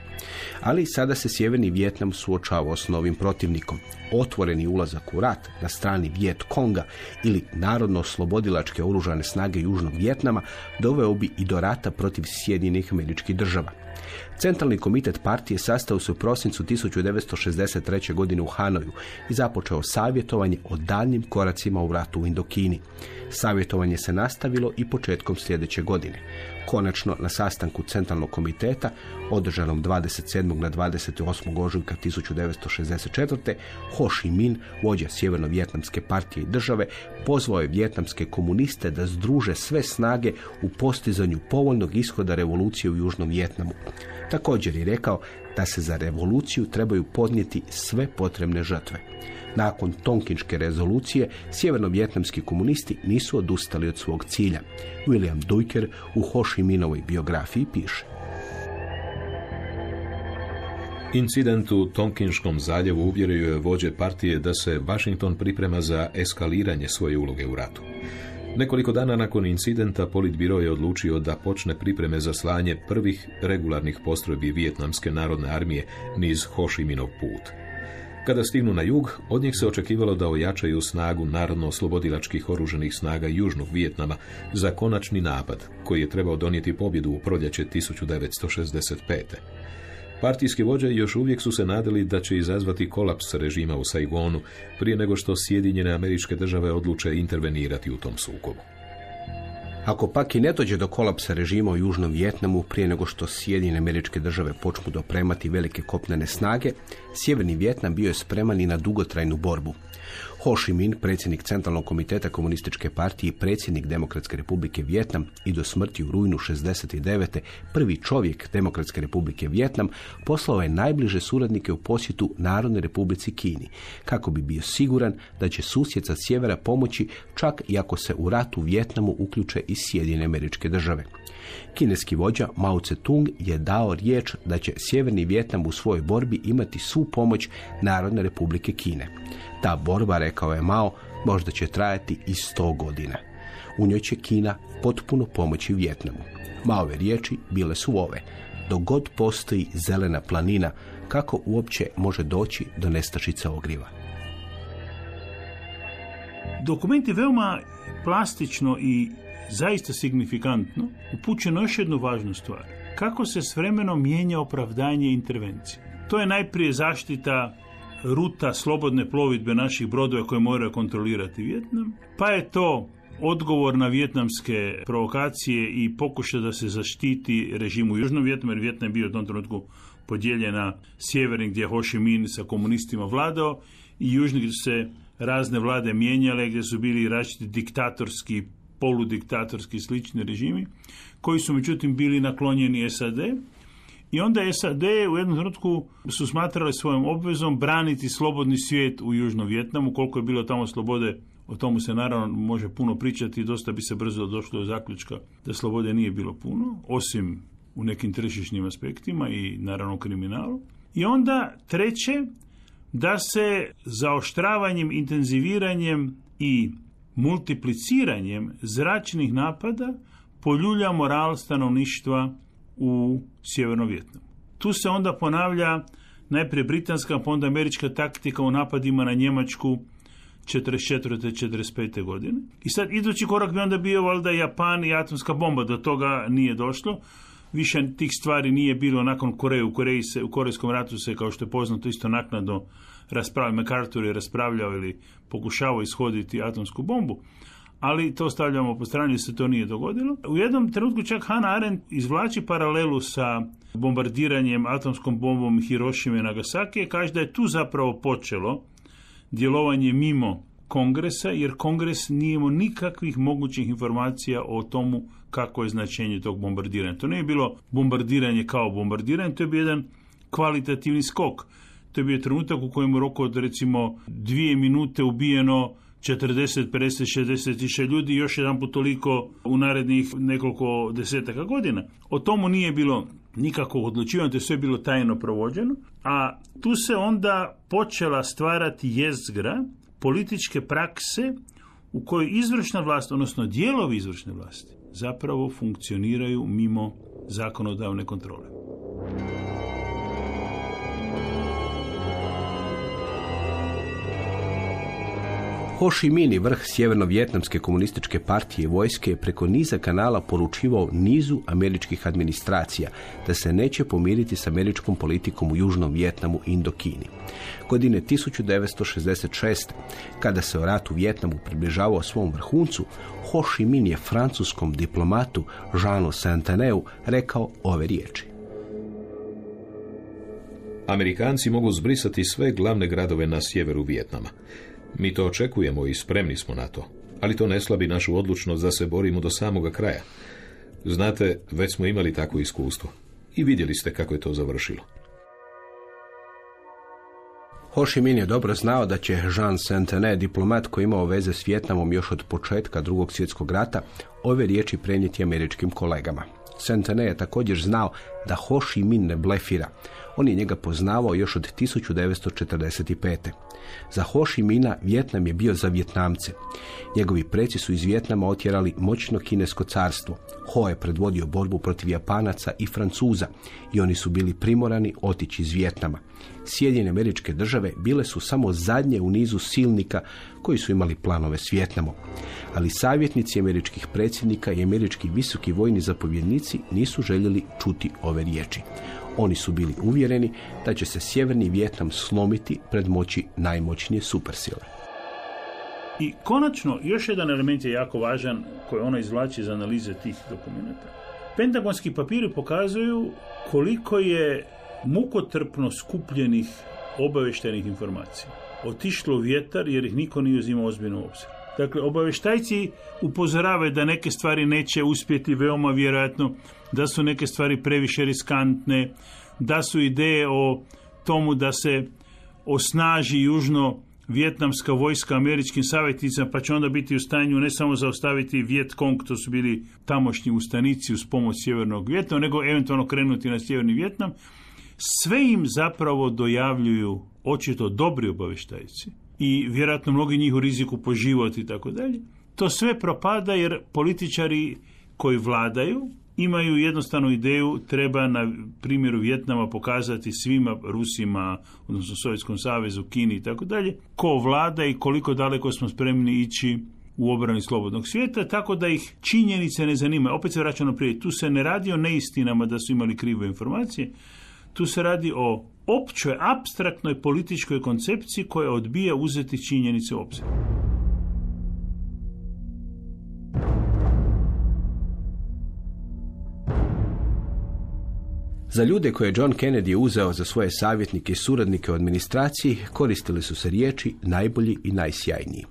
Ali sada se Sjeverni Vijetnam suočavao s novim protivnikom. Otvoreni ulazak u rat na strani Viet Konga ili narodno-oslobodilačke oružane snage Južnog Vijetnama, doveo bi i do rata protiv Sjedinjenih Američkih Država. Centralni komitet partije sastao se u prosincu 1963. godine u Hanoju i započeo savjetovanje o daljnjim koracima u ratu u Indokini. Savjetovanje se nastavilo i početkom sljedeće godine. Konačno, na sastanku Centralnog komiteta, održanom 27. na 28. ožujka 1964. Ho Chi Minh, vođa Sjeverno-Vjetnamske partije i države, pozvao je vjetnamske komuniste da združe sve snage u postizanju povoljnog ishoda revolucije u Južnom Vjetnamu. Također je rekao da se za revoluciju trebaju podnijeti sve potrebne žrtve. Nakon Tonkinške rezolucije, sjeverno-vjetnamski komunisti nisu odustali od svog cilja. William Duyker u Ho Chi Minhovoj biografiji piše: Incident u Tonkinškom zaljevu uvjerio je vođe partije da se Washington priprema za eskaliranje svoje uloge u ratu. Nekoliko dana nakon incidenta Politbiro je odlučio da počne pripreme za slanje prvih regularnih postrojbi Vijetnamske narodne armije niz Ho Chi Minhov put. Kada stignu na jug, od njih se očekivalo da ojačaju snagu narodno-oslobodilačkih oružanih snaga Južnog Vijetnama za konačni napad, koji je trebao donijeti pobjedu u proljeće 1965. Partijski vođe još uvijek su se nadali da će izazvati kolaps režima u Saigonu prije nego što Sjedinjene Američke Države odluče intervenirati u tom sukobu. Ako pak i ne dođe do kolapsa režima u Južnom Vijetnamu prije nego što Sjedinjene Američke Države počnu dopremati velike kopnene snage, Sjeverni Vijetnam bio je spreman i na dugotrajnu borbu. Ho Chi Minh, predsjednik Centralnog komiteta komunističke partije i predsjednik Demokratske republike Vijetnam i do smrti u rujnu 69. prvi čovjek Demokratske republike Vijetnam, poslao je najbliže suradnike u posjetu Narodnoj republici Kini, kako bi bio siguran da će susjed sa sjevera pomoći čak i ako se u rat u Vijetnamu uključe i Sjedinjene Američke Države. Kineski vođa Mao Tse-tung je dao riječ da će Sjeverni Vijetnam u svojoj borbi imati svu pomoć Narodne republike Kine. Ta borba, rekao je Mao, možda će trajati i 100 godina. U njoj će Kina potpuno pomoći Vijetnamu. Maove riječi bile su ove: dok god postoji zelena planina, kako uopće može doći do nestašice ogrijeva? Dokument je veoma plastično i zaista signifikantno upućeno još jednu važnu stvar. Kako se s vremenom mijenja opravdanje intervencije. To je najprije zaštita ruta slobodne plovidbe naših brodova koje moraju kontrolirati Vijetnam, pa je to odgovor na vijetnamske provokacije i pokušaj da se zaštiti režim u Južnom Vijetnamu, jer Vijetnam je bio u tom trenutku podijeljen na sjeverni gdje je Ho Chi Minh sa komunistima vladao i južni gdje su se razne vlade mijenjale, gdje su bili različiti diktatorski, poludiktatorski slični režimi, koji su međutim bili naklonjeni SAD. I onda SAD u jednom trenutku su smatrali svojom obvezom braniti slobodni svijet u Južnom Vijetnamu. Koliko je bilo tamo slobode, o tomu se naravno može puno pričati i dosta bi se brzo došlo do zaključka da slobode nije bilo puno, osim u nekim tržišnim aspektima i naravno kriminalu. I onda treće, da se zaoštravanjem, intenziviranjem i multipliciranjem zračnih napada poljulja moral stanovništva u Sjevernom Vijetnamu. Tu se onda ponavlja najprije britanska, pa onda američka taktika u napadima na Njemačku 44. 45. godine. I sad idući korak bi onda bio valjda Japan i atomska bomba. Do toga nije došlo. Više tih stvari nije bilo nakon Koreje. U Korejskom ratu se, kao što je poznato, isto naknadno raspravljao. MacArthur je raspravljao ili pokušavao ishoditi atomsku bombu. Ali to stavljamo po strani, se to nije dogodilo. U jednom trenutku čak Hannah Arendt izvlači paralelu sa bombardiranjem atomskom bombom Hirošime i Nagasaki i kaže da je tu zapravo počelo djelovanje mimo kongresa, jer kongres nije imao nikakvih mogućih informacija o tomu kako je značenje tog bombardiranja. To nije bilo bombardiranje kao bombardiranje, to je bio jedan kvalitativni skok. To je bio trenutak u kojem u roku od recimo 2 minute ubijeno 40, 50, 60 tisuća ljudi i još jedan put toliko u narednih nekoliko desetaka godina. O tomu nije bilo nikakvog odlučivanja, to je sve bilo tajno provođeno, a tu se onda počela stvarati jezgra političke prakse u kojoj izvršna vlast, odnosno dijelovi izvršne vlasti, zapravo funkcioniraju mimo zakonodavne kontrole. Ho Chi Minh, vrh sjeverno-vjetnamske komunističke partije i vojske, je preko niza kanala poručivao nizu američkih administracija da se neće pomiriti s američkom politikom u Južnom Vjetnamu i Indokini. Godine 1966. kada se o ratu u Vjetnamu približavao svom vrhuncu, Ho Chi Minh je francuskom diplomatu Jeanu Sainteneu rekao ove riječi. Amerikanci mogu zbrisati sve glavne gradove na sjeveru Vjetnama. Mi to očekujemo i spremni smo na to, ali to ne slabi našu odlučnost da se borimo do samoga kraja. Znate, već smo imali takvo iskustvo i vidjeli ste kako je to završilo. Ho Chi Minh je dobro znao da će Jean Saintenay, diplomat koji imao veze s Vjetnamom još od početka Drugog svjetskog rata, ove riječi prenijeti američkim kolegama. Saintenay je također znao da Ho Chi Minh ne blefira. On je njega poznavao još od 1945. Za Ho Chi Minha Vjetnam je bio za Vjetnamce. Njegovi preci su iz Vjetnama otjerali moćno kinesko carstvo. Ho je predvodio borbu protiv Japanaca i Francuza i oni su bili primorani otići iz Vjetnama. Sjedinjene Američke Države bile su samo zadnje u nizu silnika koji su imali planove s Vjetnamom. Ali savjetnici američkih predsjednika i američki visoki vojni zapovjednici nisu željeli čuti ove riječi. Oni su bili uvjereni da će se sjeverni Vjetnam slomiti pred moći najmoćnije supersile. I konačno, još jedan element je jako važan koji ono izvlači iz analize tih dokumenta. Pentagonski papiri pokazuju koliko je mukotrpno skupljenih obavještajnih informacija otišlo u vjetar jer ih niko nije uzimao ozbiljno u obzir. Dakle, obavještajci upozoravaju da neke stvari neće uspjeti, veoma vjerojatno, da su neke stvari previše riskantne, da su ideje o tomu da se osnaži južno-vjetnamska vojska američkim savjetnicima, pa će onda biti u stanju ne samo zaustaviti Vjetkong, to su bili tamošnji ustanici uz pomoć sjevernog Vjetnama, nego eventualno krenuti na sjeverni Vjetnam. Sve im zapravo dojavljuju očito dobri obavještajci i vjerojatno mnogi njih u riziku po život i tako dalje. To sve propada jer političari koji vladaju imaju jednostavnu ideju, treba na primjeru Vjetnama pokazati svima Rusima, odnosno Sovjetskom savezu, Kini i tako dalje, ko vlada i koliko daleko smo spremni ići u obrani slobodnog svijeta, tako da ih činjenice ne zanimaju. Opet se vraćamo prije, tu se ne radi o neistinama da su imali krive informacije, tu se radi o općoj, apstraktnoj političkoj koncepciji koja odbija uzeti činjenice u obzir. Za ljude koje je John Kennedy uzeo za svoje savjetnike i suradnike u administraciji koristili su se riječi najbolji i najsjajniji.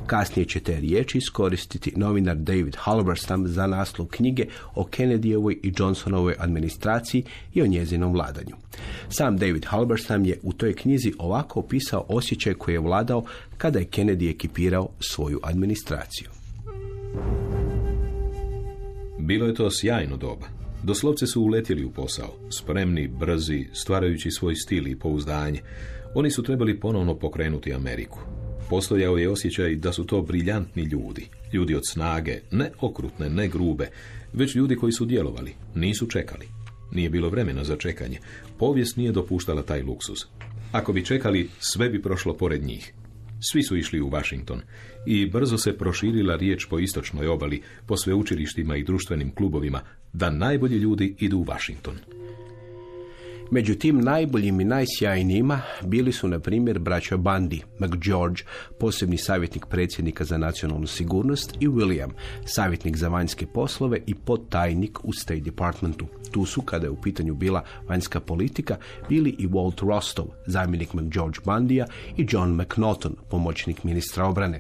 Kasnije će te riječi iskoristiti novinar David Halberstam za naslov knjige o Kennedyjevoj i Johnsonovoj administraciji i o njezinom vladanju. Sam David Halberstam je u toj knjizi ovako opisao osjećaj koji je vladao kada je Kennedy ekipirao svoju administraciju. Bilo je to sjajno doba. Doslovce su uletjeli u posao, spremni, brzi, stvarajući svoj stil i pouzdanje. Oni su trebali ponovno pokrenuti Ameriku. Postojao je osjećaj da su to briljantni ljudi, ljudi od snage, ne okrutne, ne grube, već ljudi koji su djelovali, nisu čekali. Nije bilo vremena za čekanje. Povijest nije dopuštala taj luksuz. Ako bi čekali, sve bi prošlo pored njih. Svi su išli u Washington i brzo se proširila riječ po istočnoj obali, po sveučilištima i društvenim klubovima, da najbolji ljudi idu u Washington. Među tim najboljim i najsjajnijima bili su, na primjer, braća Bundy, McGeorge, posebni savjetnik predsjednika za nacionalnu sigurnost, i William, savjetnik za vanjske poslove i podtajnik u State Departmentu. Tu su, kada je u pitanju bila vanjska politika, bili i Walt Rostov, zamjenik McGeorge Bundya, i John McNaughton, pomoćnik ministra obrane.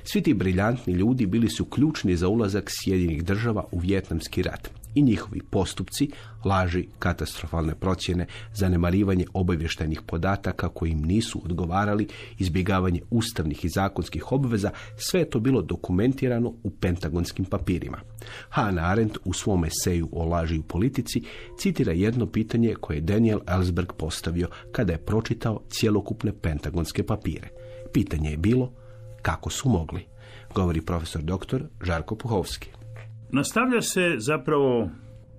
Svi ti briljantni ljudi bili su ključni za ulazak Sjedinjenih Država u Vijetnamski rat. I njihovi postupci, laži, katastrofalne procjene, zanemarivanje obavještajnih podataka koji im nisu odgovarali, izbjegavanje ustavnih i zakonskih obveza, sve je to bilo dokumentirano u pentagonskim papirima. Hannah Arendt u svom eseju o laži u politici citira jedno pitanje koje je Daniel Ellsberg postavio kada je pročitao cjelokupne pentagonske papire. Pitanje je bilo kako su mogli, govori profesor dr. Žarko Puhovski. Nastavlja se zapravo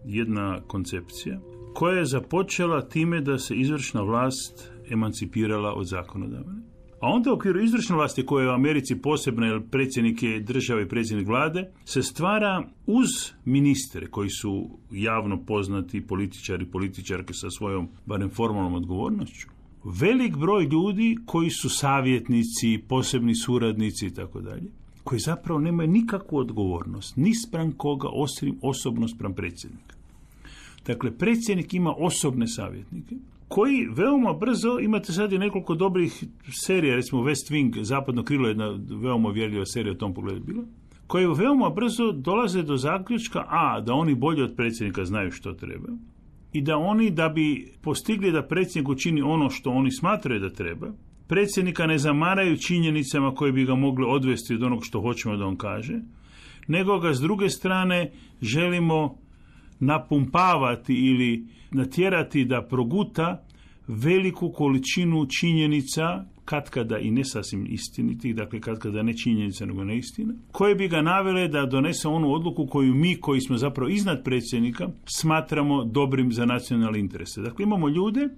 jedna koncepcija koja je započela time da se izvršna vlast emancipirala od zakonodavne, A onda u okviru izvršne vlasti koja je u Americi posebna, jer predsjednik je države i predsjednik vlade, se stvara uz ministre koji su javno poznati političari, političarke sa svojom, barem formalnom odgovornošću, velik broj ljudi koji su savjetnici, posebni suradnici i tako dalje, koji zapravo nemaju nikakvu odgovornost, ni spram koga, osim osobno spram predsjednika. Dakle, predsjednik ima osobne savjetnike, koji veoma brzo, imate sad i nekoliko dobrih serija, recimo West Wing, Zapadno krilo, jedna veoma uvjerljiva serija u tom pogledu bila, koje veoma brzo dolaze do zaključka, da oni bolje od predsjednika znaju što treba, i da oni, da bi postigli da predsjednik učini ono što oni smatraju da treba, predsjednika ne zamaraju činjenicama koje bi ga mogle odvesti od onog što hoćemo da on kaže, nego ga s druge strane želimo napumpavati ili natjerati da proguta veliku količinu činjenica, katkada i ne sasvim istinitih, dakle katkada ne činjenica nego neistina, koje bi ga navele da donese onu odluku koju mi, koji smo zapravo iznad predsjednika, smatramo dobrim za nacionalne interese. Dakle, imamo ljude,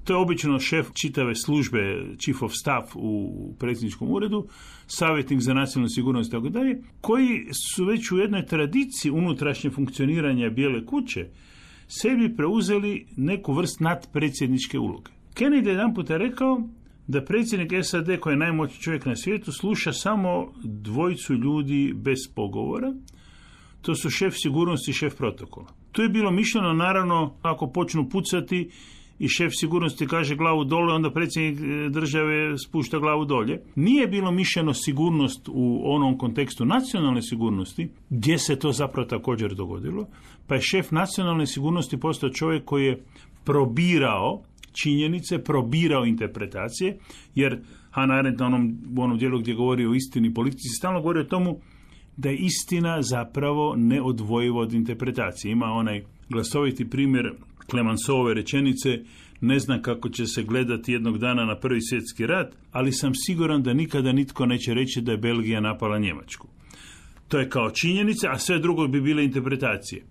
to je obično šef čitave službe, chief of staff u predsjedničkom uredu, savjetnik za nacionalnu sigurnost i tako dalje, koji su već u jednoj tradiciji unutrašnje funkcioniranja Bijele kuće sebi preuzeli neku vrst nadpredsjedničke uloge. Kennedy je jedanput rekao da predsjednik SAD, koji je najmoćniji čovjek na svijetu, sluša samo dvojicu ljudi bez pogovora. To su šef sigurnosti i šef protokola. Tu je bilo mišljeno, naravno, ako počnu pucati i šef sigurnosti kaže glavu dole, onda predsjednik države spušta glavu dolje. Nije bilo mišljeno sigurnost u onom kontekstu nacionalne sigurnosti, gdje se to zapravo također dogodilo, pa je šef nacionalne sigurnosti postao čovjek koji je probirao činjenice, probirao interpretacije, jer Hannah Arendt u onom dijelu gdje govori o istini politici stalno govori o tomu da je istina zapravo neodvojiva od interpretacije. Ima onaj glasoviti primjer Clemenceauove rečenice: ne znam kako će se gledati jednog dana na Prvi svjetski rat, ali sam siguran da nikada nitko neće reći da je Belgija napala Njemačku. To je kao činjenica, a sve drugo bi bile interpretacije.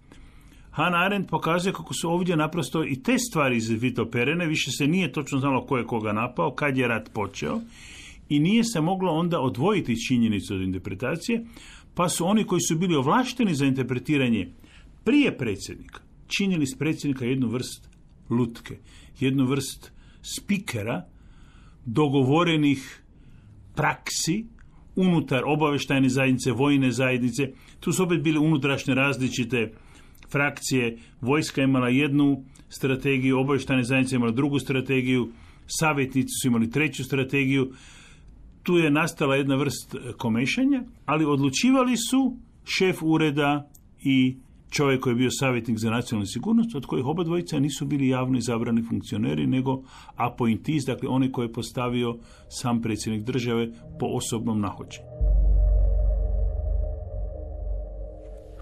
Hannah Arendt pokazuje kako su ovdje naprosto i te stvari izvitoperene, više se nije točno znalo ko je koga napao, kad je rat počeo, i nije se moglo onda odvojiti činjenicu od interpretacije, pa su oni koji su bili ovlašteni za interpretiranje prije predsjednika činili s predsjednika jednu vrst lutke, jednu vrst spikera dogovorenih praksi unutar obavještajne zajednice, vojne zajednice. Tu su opet bile unutrašnje različite frakcije. Vojska je imala jednu strategiju, obavještajne zajednice imala drugu strategiju, savjetnici su imali treću strategiju. Tu je nastala jedna vrst komešanja, ali odlučivali su šef ureda i čovjek koji je bio savjetnik za nacionalnu sigurnost, od kojih oba dvojica nisu bili javno izabrani funkcioneri, nego appointees, dakle oni koje je postavio sam predsjednik države po osobnom nahođenju.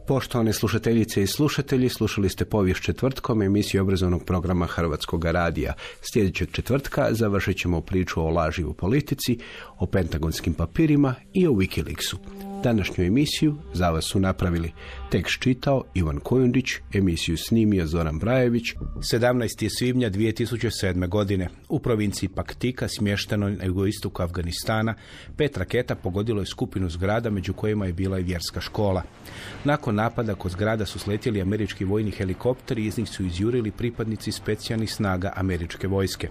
Poštovane slušateljice i slušatelji, slušali ste Povijest četvrtkom, emisiju obrazovnog programa Hrvatskog radija. Sljedećeg četvrtka završit ćemo priču o laži u politici, o pentagonskim papirima i o Wikileaksu. Današnju emisiju za vas su napravili tekst čitao Ivan Kojundić, emisiju snimio Zoran Brajević. 17. svibnja 2007. godine u provinciji Paktika, smještenoj na jugoistoku Afganistana, 5 raketa pogodilo je skupinu zgrada, među kojima je bila i vjerska škola. Nakon napada kod zgrada su sletjeli američki vojni helikopteri i iz njih su izjurili pripadnici specijalnih snaga američke vojske.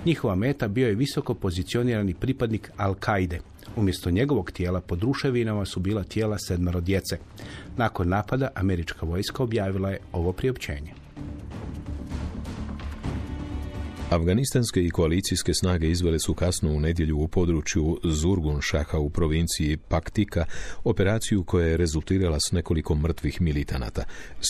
Njihova meta bio je visoko pozicionirani pripadnik Al-Kaide. Umjesto njegovog tijela pod ruševinama su bila tijela 7 djece. Nakon napada američka vojska objavila je ovo priopćenje. Afganistanske i koalicijske snage izvele su kasno u nedjelju u području Zurgun Šaha u provinciji Paktika operaciju koja je rezultirala s nekoliko mrtvih militanata,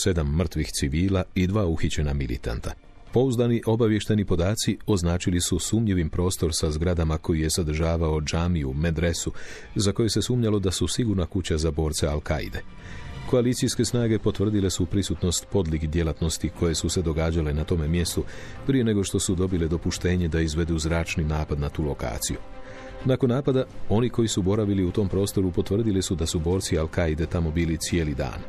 7 mrtvih civila i 2 uhićena militanta. Pouzdani obavješteni podaci označili su sumnjivim prostor sa zgradama koji je sadržavao džamiju, medresu, za koje se sumnjalo da su sigurna kuća za borce Al-Kaide. Koalicijske snage potvrdile su prisutnost podlih djelatnosti koje su se događale na tome mjestu prije nego što su dobile dopuštenje da izvedu zračni napad na tu lokaciju. Nakon napada, oni koji su boravili u tom prostoru potvrdili su da su borci Al-Kaide tamo bili cijeli dan.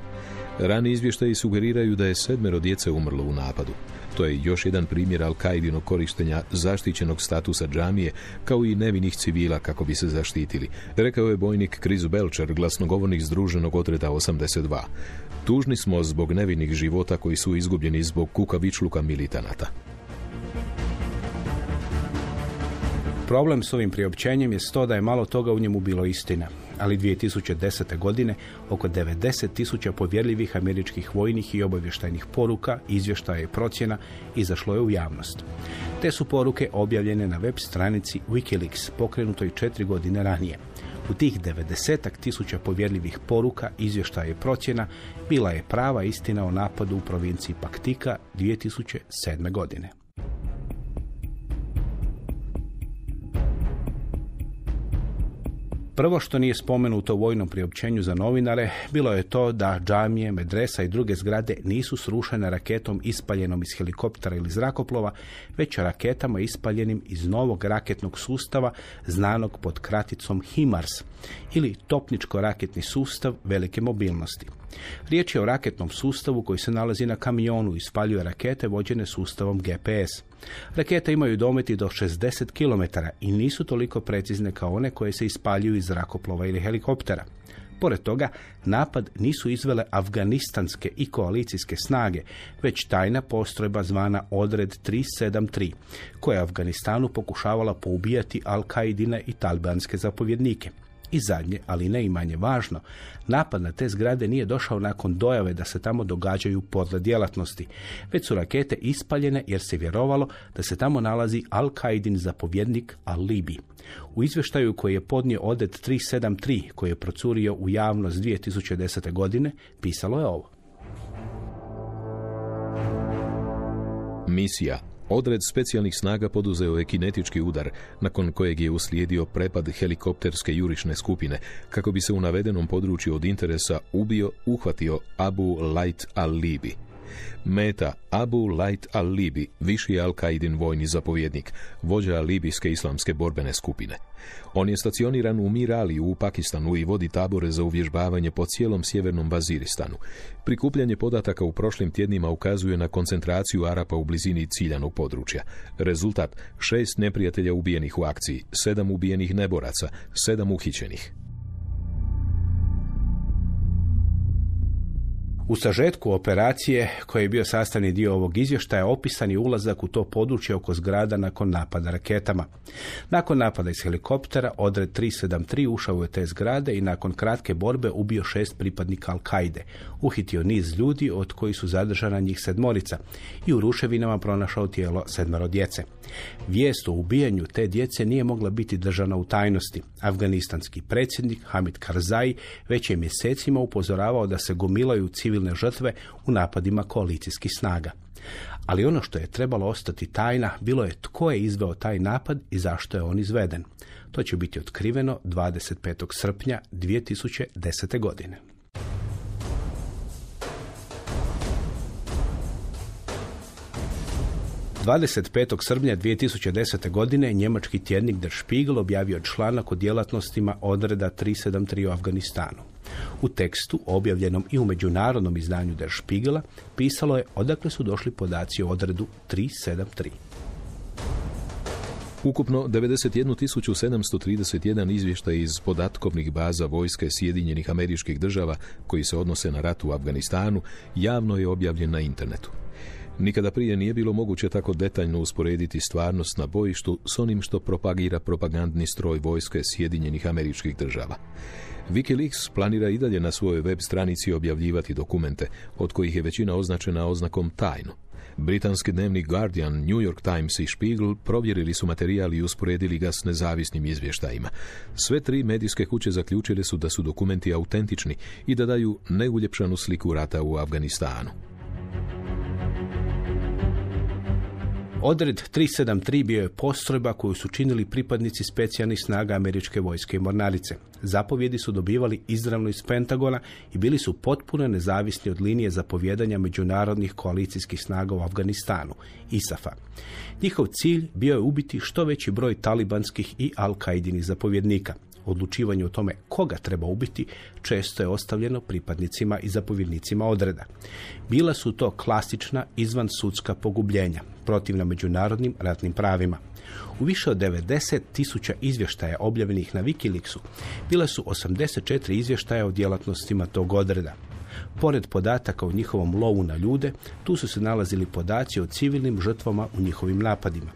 Rani izvještaji sugeriraju da je 7 djece umrlo u napadu. To je još jedan primjer Al-Kaidinog korištenja zaštićenog statusa džamije kao i nevinih civila kako bi se zaštitili, rekao je bojnik Chris Belcher, glasnogovornik Združenog odreda 82. Tužni smo zbog nevinih života koji su izgubljeni zbog kukavičluka militanata. Problem s ovim priopćenjem je to da je malo toga u njemu bilo istina, ali 2010. godine oko 90.000 povjerljivih američkih vojnih i obavještajnih poruka, izvještaja i procjena izašlo je u javnost. Te su poruke objavljene na web stranici Wikileaks, pokrenutoj 4 godine ranije. U tih 90.000 povjerljivih poruka, izvještaja i procjena bila je prava istina o napadu u provinciji Paktika 2007. godine. Prvo što nije spomenuto u vojnom priopćenju za novinare bilo je to da džamije, medresa i druge zgrade nisu srušene raketom ispaljenom iz helikoptera ili zrakoplova, već raketama ispaljenim iz novog raketnog sustava znanog pod kraticom HIMARS ili topničko-raketni sustav velike mobilnosti. Riječ je o raketnom sustavu koji se nalazi na kamionu i spaljuje rakete vođene sustavom GPS. Rakete imaju dometi do 60 km i nisu toliko precizne kao one koje se ispaljuju iz zrakoplova ili helikoptera. Pored toga, napad nisu izvele afganistanske i koalicijske snage, već tajna postrojba zvana Odred 373, koja je Afganistanu pokušavala poubijati Al-Kaidine i talibanske zapovjednike. I zadnje, ali ne i manje važno, napad na te zgrade nije došao nakon dojave da se tamo događaju podle djelatnosti, već su rakete ispaljene jer se vjerovalo da se tamo nalazi Al-Kaidin zapovjednik Al-Libi. U izvještaju koji je podnio Odred 373, koji je procurio u javnost 2010. godine, pisalo je ovo. Misija. Odred specijalnih snaga poduzeo je kinetički udar, nakon kojeg je uslijedio prepad helikopterske jurišne skupine, kako bi se u navedenom području od interesa uhvatio Abu Lajt al-Libi. Meta Abu Lajt al-Libi, viši Al-Kaidin vojni zapovjednik, vođa libijske islamske borbene skupine. On je stacioniran u Miraliju u Pakistanu i vodi tabore za uvježbavanje po cijelom sjevernom Vaziristanu. Prikupljanje podataka u prošlim tjednima ukazuje na koncentraciju Arapa u blizini ciljanog područja. Rezultat: 6 neprijatelja ubijenih u akciji, 7 ubijenih neboraca, 7 uhićenih. U sažetku operacije, koji je bio sastavni dio ovog izvještaja, opisan je ulazak u to područje oko zgrada nakon napada raketama. Nakon napada iz helikoptera, Odred 373 ušao je te zgrade i nakon kratke borbe ubio 6 pripadnika Al-Kaide, uhitio niz ljudi od kojih su zadržana njih 7 i u ruševinama pronašao tijelo 7 djece. Vijest o ubijanju te djece nije mogla biti držana u tajnosti. Afganistanski predsjednik Hamid Karzai već je mjesecima upozoravao da se gomilaju civilne žrtve u napadima koalicijskih snaga. Ali ono što je trebalo ostati tajna bilo je tko je izveo taj napad i zašto je on izveden. To će biti otkriveno 25. srpnja 2010. godine. – 25. srpnja 2010. godine njemački tjednik Der Spiegel objavio članak o djelatnostima Odreda 373 u Afganistanu. U tekstu, objavljenom i u međunarodnom izdanju Der Spiegela, pisalo je odakle su došli podaci o Odredu 373. Ukupno 91.731 izvještaj iz podatkovnih baza vojske Sjedinjenih Američkih Država koji se odnose na rat u Afganistanu javno je objavljen na internetu. Nikada prije nije bilo moguće tako detaljno usporediti stvarnost na bojištu s onim što propagira propagandni stroj vojske Sjedinjenih Američkih Država. Wikileaks planira i dalje na svojoj web stranici objavljivati dokumente, od kojih je većina označena oznakom tajno. Britanski dnevnik Guardian, New York Times i Spiegel provjerili su materijal i usporedili ga s nezavisnim izvještajima. Sve 3 medijske kuće zaključile su da su dokumenti autentični i da daju neuljepšanu sliku rata u Afganistanu. Odred 373 bio je postrojba koju su činili pripadnici specijalnih snaga američke vojske i mornarice. Zapovjedi su dobivali izravno iz Pentagona i bili su potpuno nezavisni od linije zapovjedanja međunarodnih koalicijskih snaga u Afganistanu, ISAF-a. Njihov cilj bio je ubiti što veći broj talibanskih i Al-Kaidinih zapovjednika. odlučivanje o tome koga treba ubiti često je ostavljeno pripadnicima i zapovjednicima odreda. Bila su to klasična izvansudska pogubljenja, protivna međunarodnim ratnim pravima. U više od 90.000 izvještaja objavljenih na Wikileaksu bila su 84 izvještaja o djelatnostima tog odreda. Pored podataka o njihovom lovu na ljude, tu su se nalazili podaci o civilnim žrtvama u njihovim napadima.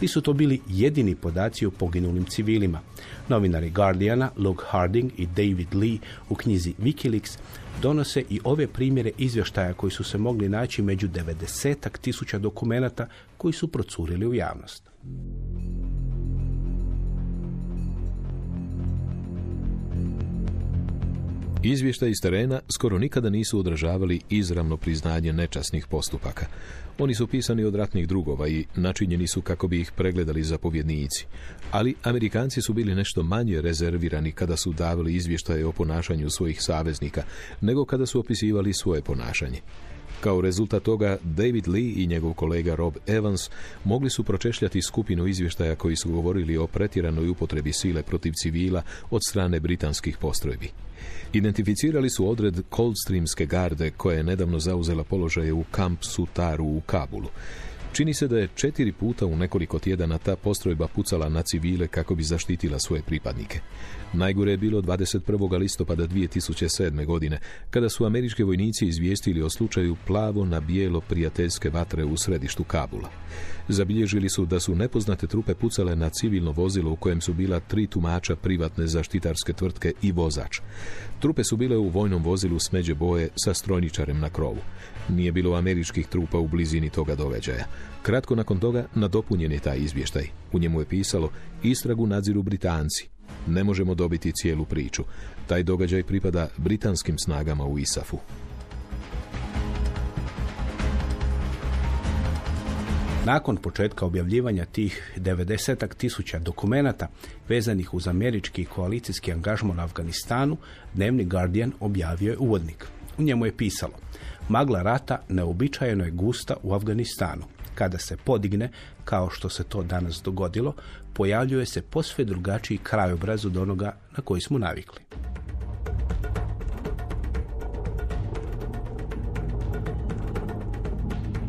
Nisu to bili jedini podaci o poginulim civilima. Novinari Guardiana, Luke Harding i David Lee u knjizi Wikileaks donose i ove primjere izvještaja koji su se mogli naći među 90.000 dokumenata koji su procurili u javnost. Izvještaji iz terena skoro nikada nisu odražavali izravno priznanje nečasnih postupaka. Oni su pisani od ratnih drugova i načinjeni su kako bi ih pregledali zapovjednici. Ali Amerikanci su bili nešto manje rezervirani kada su davali izvještaje o ponašanju svojih saveznika, nego kada su opisivali svoje ponašanje. Kao rezultat toga, David Lee i njegov kolega Rob Evans mogli su pročešljati skupinu izvještaja koji su govorili o pretjeranoj upotrebi sile protiv civila od strane britanskih postrojbi. Identificirali su odred Coldstreamske garde koja je nedavno zauzela položaje u Camp Sutaru u Kabulu. Čini se da je 4 puta u nekoliko tjedana ta postrojba pucala na civile kako bi zaštitila svoje pripadnike. Najgore je bilo 21. listopada 2007. godine, kada su američki vojnici izvijestili o slučaju plavo na bijelo prijateljske vatre u središtu Kabula. Zabilježili su da su nepoznate trupe pucale na civilno vozilo u kojem su bila 3 tumača privatne zaštitarske tvrtke i vozač. Trupe su bile u vojnom vozilu smeđe boje sa strojničarem na krovu. Nije bilo američkih trupa u blizini toga događaja. Kratko nakon toga nadopunjen je taj izvještaj. U njemu je pisalo: istragu nadziru Britanci. Ne možemo dobiti cijelu priču. Taj događaj pripada britanskim snagama u ISAF-u. Nakon početka objavljivanja tih 90.000 dokumenata vezanih uz američki i koalicijski angažman u Afganistanu, dnevni Guardian objavio je uvodnik. U njemu je pisalo: magla rata neobičajeno je gusta u Afganistanu. Kada se podigne, kao što se to danas dogodilo, pojavljuje se posve drugačiji krajobraz od onoga na koji smo navikli.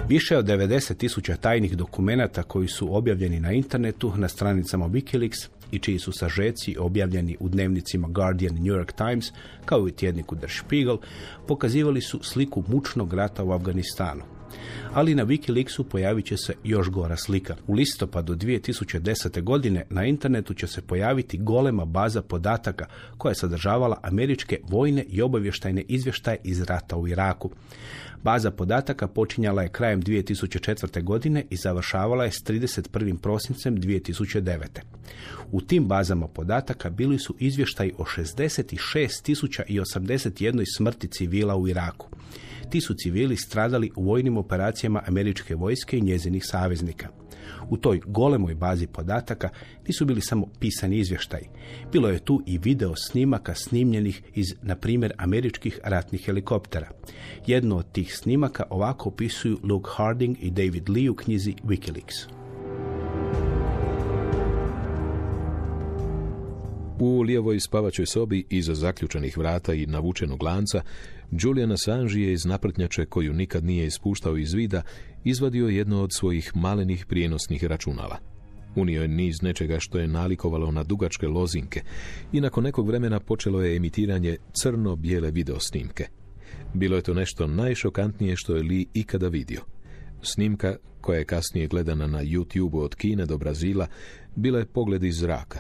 Više od 90.000 tajnih dokumenata koji su objavljeni na internetu, na stranicama Wikileaks i čiji su sažeci objavljeni u dnevnicima Guardian i New York Times, kao i tjedniku Der Spiegel, pokazivali su sliku mučnog rata u Afganistanu. Ali na Wikileaksu pojavit će se još gora slika. U listopadu 2010. godine na internetu će se pojaviti golema baza podataka koja je sadržavala američke vojne i obavještajne izvještaje iz rata u Iraku. Baza podataka počinjala je krajem 2004. godine i završavala je s 31. prosincem 2009. U tim bazama podataka bili su izvještaji o 66.081 smrti civila u Iraku. Ti su civili stradali u vojnim operacijama američke vojske i njezinih saveznika. U toj golemoj bazi podataka nisu bili samo pisani izvještaji. Bilo je tu i video snimaka snimljenih iz, na primjer, američkih ratnih helikoptera. Jedno od tih snimaka ovako opisuju Luke Harding i David Lee u knjizi Wikileaks. U lijevoj spavačoj sobi, iza zaključanih vrata i navučenog lanca, Julian Assange je iz naprtnjače, koju nikad nije ispuštao iz vida, izvadio jedno od svojih malenih prijenosnih računala. Unio je niz nečega što je nalikovalo na dugačke lozinke i nakon nekog vremena počelo je emitiranje crno-bijele videosnimke. Bilo je to nešto najšokantnije što je Lee ikada vidio. Snimka, koja je kasnije gledana na YouTube od Kine do Brazila, bila je pogled iz zraka.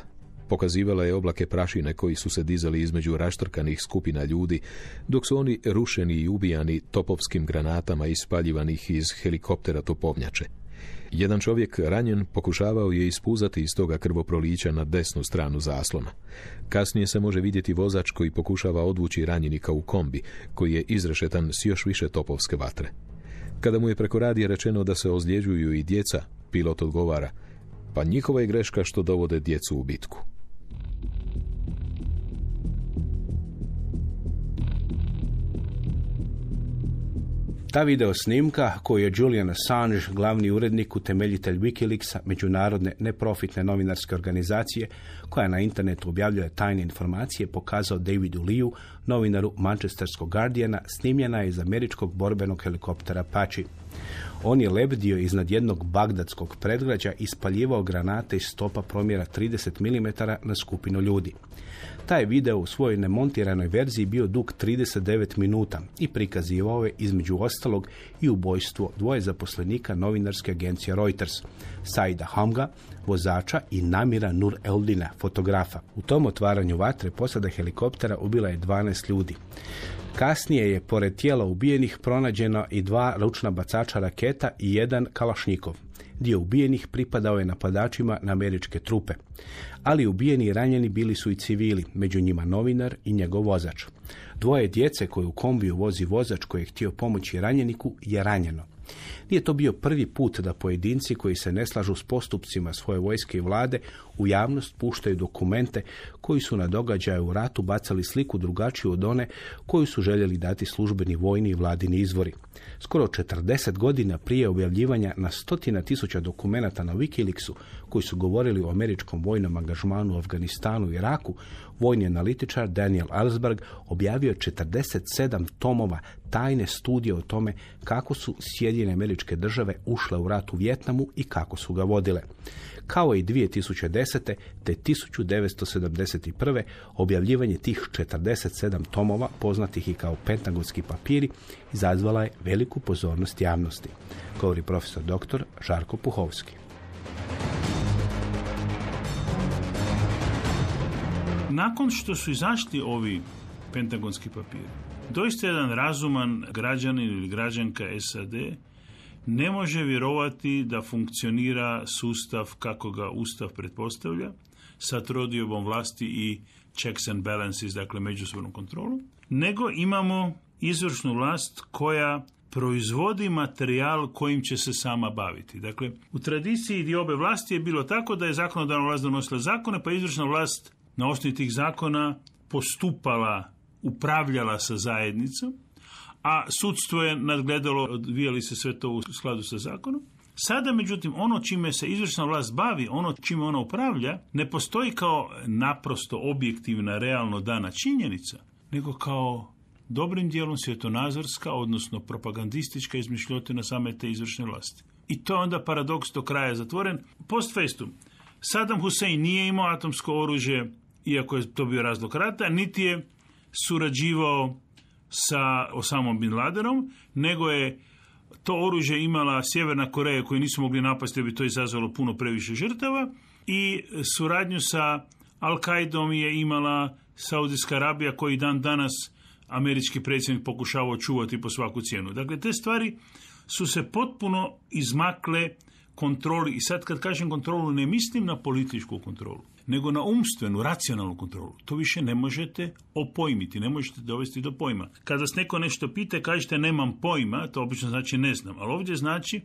Pokazivala je oblake prašine koji su se dizali između raštrkanih skupina ljudi, dok su oni rušeni i ubijani topovskim granatama ispaljivanih iz helikoptera topovnjače. Jedan čovjek ranjen pokušavao je ispuzati iz toga krvoprolića na desnu stranu zaslona. Kasnije se može vidjeti vozač koji pokušava odvući ranjenika u kombi, koji je izrešetan s još više topovske vatre. Kada mu je preko radija rečeno da se ozljeđuju i djeca, pilot odgovara: pa njihova je greška što dovode djecu u bitku. Ta video snimka, koju je Julian Assange, glavni urednik, utemeljitelj Wikileaksa, međunarodne neprofitne novinarske organizacije, koja na internetu objavljuje tajne informacije, pokazao Davidu Leeu, novinaru Manchesterskog Guardiana, snimljena je iz američkog borbenog helikoptera Apache. On je lebdio iznad jednog bagdadskog predgrađa i ispaljivao granate iz stopa promjera 30 mm na skupinu ljudi. Taj video u svojoj nemontiranoj verziji bio dug 39 minuta i prikazivao je između ostalog i ubojstvo dvoje zaposlenika novinarske agencije Reuters, Saida Hamga, vozača, i Namira Nur Eldina, fotografa. U tom otvaranju vatre posada helikoptera ubila je 12 ljudi. Kasnije je pored tijela ubijenih pronađeno i 2 ručna bacača raketa i 1 kalašnjikov. Dio ubijenih pripadao je napadačima na američke trupe. Ali ubijeni i ranjeni bili su i civili, među njima novinar i njegov vozač. 2 djece koje u kombiju vozi vozač koji je htio pomoći ranjeniku je ranjeno. Nije to bio prvi put da pojedinci koji se ne slažu s postupcima svoje vojske i vlade u javnost puštaju dokumente koji su na događaju u ratu bacali sliku drugačiju od one koju su željeli dati službeni vojni i vladini izvori. Skoro 40 godina prije objavljivanja na 100.000 dokumenata na Wikileaksu koji su govorili o američkom vojnom angažmanu u Afganistanu i Iraku, vojni analitičar Daniel Ellsberg objavio 47 tomova tajne studije o tome kako su Sjedinjene Američke Države ušle u rat u Vijetnamu i kako su ga vodile. Kao i 2010. te 1971. objavljivanje tih 47 tomova, poznatih i kao pentagonski papiri, izazvala je veliku pozornost javnosti, govori profesor dr. Žarko Puhovski. Nakon što su izašli ovi pentagonski papiri, doista jedan razuman građanin ili građanka SAD ne može vjerovati da funkcionira sustav kako ga Ustav pretpostavlja, sa trodiobom vlasti i checks and balances, dakle međusobnu kontrolu, nego imamo izvršnu vlast koja proizvodi materijal kojim će se sama baviti. Dakle, u tradiciji diobe vlasti je bilo tako da je zakonodavna vlast donosila zakone, pa izvršna vlast na osnovi tih zakona postupala, upravljala sa zajednicom, a sudstvo je nadgledalo, odvijali se sve to u skladu sa zakonom. Sada, međutim, ono čime se izvršna vlast bavi, ono čime ona upravlja, ne postoji kao naprosto objektivna, realno dana činjenica, nego kao dobrim dijelom svjetonazorska, odnosno propagandistička izmišljotina same te izvršne vlasti. I to je onda paradoks do kraja zatvoren. Post festum, Saddam Hussein nije imao atomsko oružje, iako je to bio razlog rata, niti je surađivao sa Osamom bin Ladenom, nego je to oružje imala Sjeverna Koreja koju nisu mogli napasti, da bi to izazvalo puno previše žrtava, i suradnju sa Al-Qaidom je imala Saudijska Arabija, koji dan danas američki predsjednik pokušavao čuvati po svaku cijenu. Dakle, te stvari su se potpuno izmakle kontroli. I sad kad kažem kontrolu, ne mislim na političku kontrolu, nego na umstvenu, racionalnu kontrolu. To više ne možete opojmiti, ne možete dovesti do pojma. Kada vas neko nešto pita, kažete nemam pojma, to obično znači ne znam, ali ovdje znači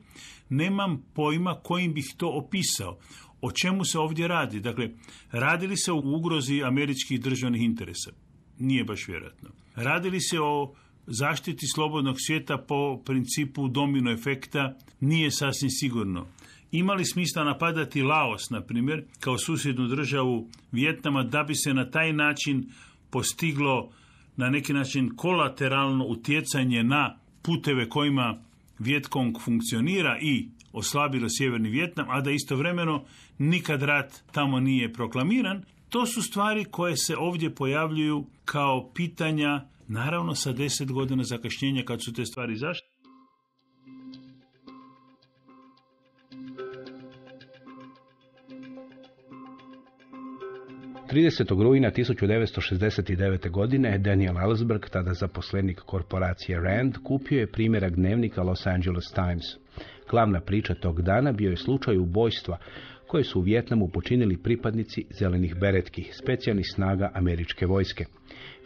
nemam pojma kojim bih to opisao. O čemu se ovdje radi? Dakle, radi li se o ugrozi američkih državnih interesa? Nije baš vjerojatno. Radi li se o zaštiti slobodnog svijeta po principu domino efekta? Nije sasvim sigurno. Ima li smisla napadati Laos, na primjer, kao susjednu državu Vijetnama, da bi se na taj način postiglo na neki način kolateralno utjecanje na puteve kojima Vjetkong funkcionira i oslabilo Sjeverni Vijetnam, a da istovremeno nikad rat tamo nije proklamiran? To su stvari koje se ovdje pojavljuju kao pitanja, naravno sa 10 godina zakašnjenja kad su te stvari zašto. 30. rujna 1969. godine Daniel Ellsberg, tada zaposlenik korporacije Rand, kupio je primjerak dnevnika Los Angeles Times. Glavna priča tog dana bio je slučaj ubojstva koje su u Vijetnamu počinili pripadnici zelenih beretki, specijalnih snaga američke vojske.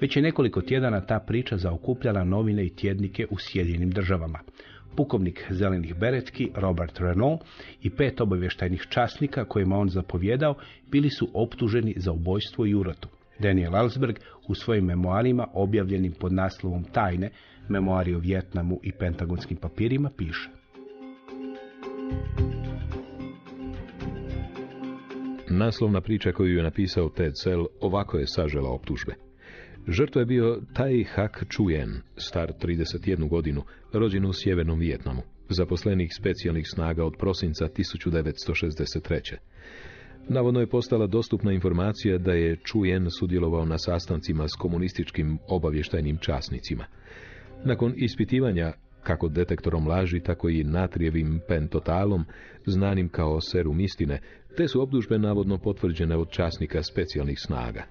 Već je nekoliko tjedana ta priča zaokupljala novine i tjednike u Sjedinjenim Državama. Pukovnik zelenih beretki Robert Renault i 5 obavještajnih časnika kojima on zapovjedao bili su optuženi za ubojstvo i urotu. Daniel Ellsberg u svojim memoarima objavljenim pod naslovom Tajne, memoari o Vijetnamu i pentagonskim papirima, piše: Naslovna priča koju je napisao Ted Sell ovako je sažela optužbe. Žrtva je bio Tai Hak Chuyen, star 31 godinu, rođen u sjevernom Vijetnamu, zaposlenik specijalnih snaga od prosinca 1963. Navodno je postala dostupna informacija da je Chuyen sudjelovao na sastancima s komunističkim obavještajnim časnicima. Nakon ispitivanja kako detektorom laži, tako i natrijevim pentotalom, znanim kao serum istine, te su optužbe navodno potvrđene od časnika specijalnih snaga.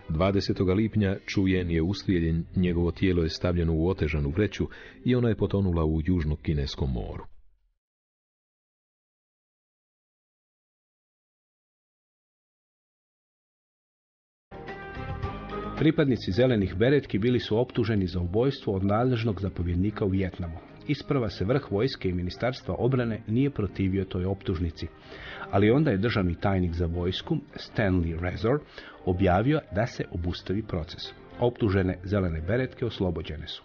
20. lipnja Chuyen je ustrijeljen, njegovo tijelo je stavljeno u otežanu vreću i ona je potonula u Južno-Kineskom moru. Pripadnici zelenih beretki bili su optuženi za ubojstvo od nadležnog zapovjednika u Vijetnamu. Isprva se vrh vojske i ministarstva obrane nije protivio toj optužnici, ali onda je državni tajnik za vojsku, Stanley Razor, objavio da se obustavi proces. Optužene zelene beretke oslobođene su.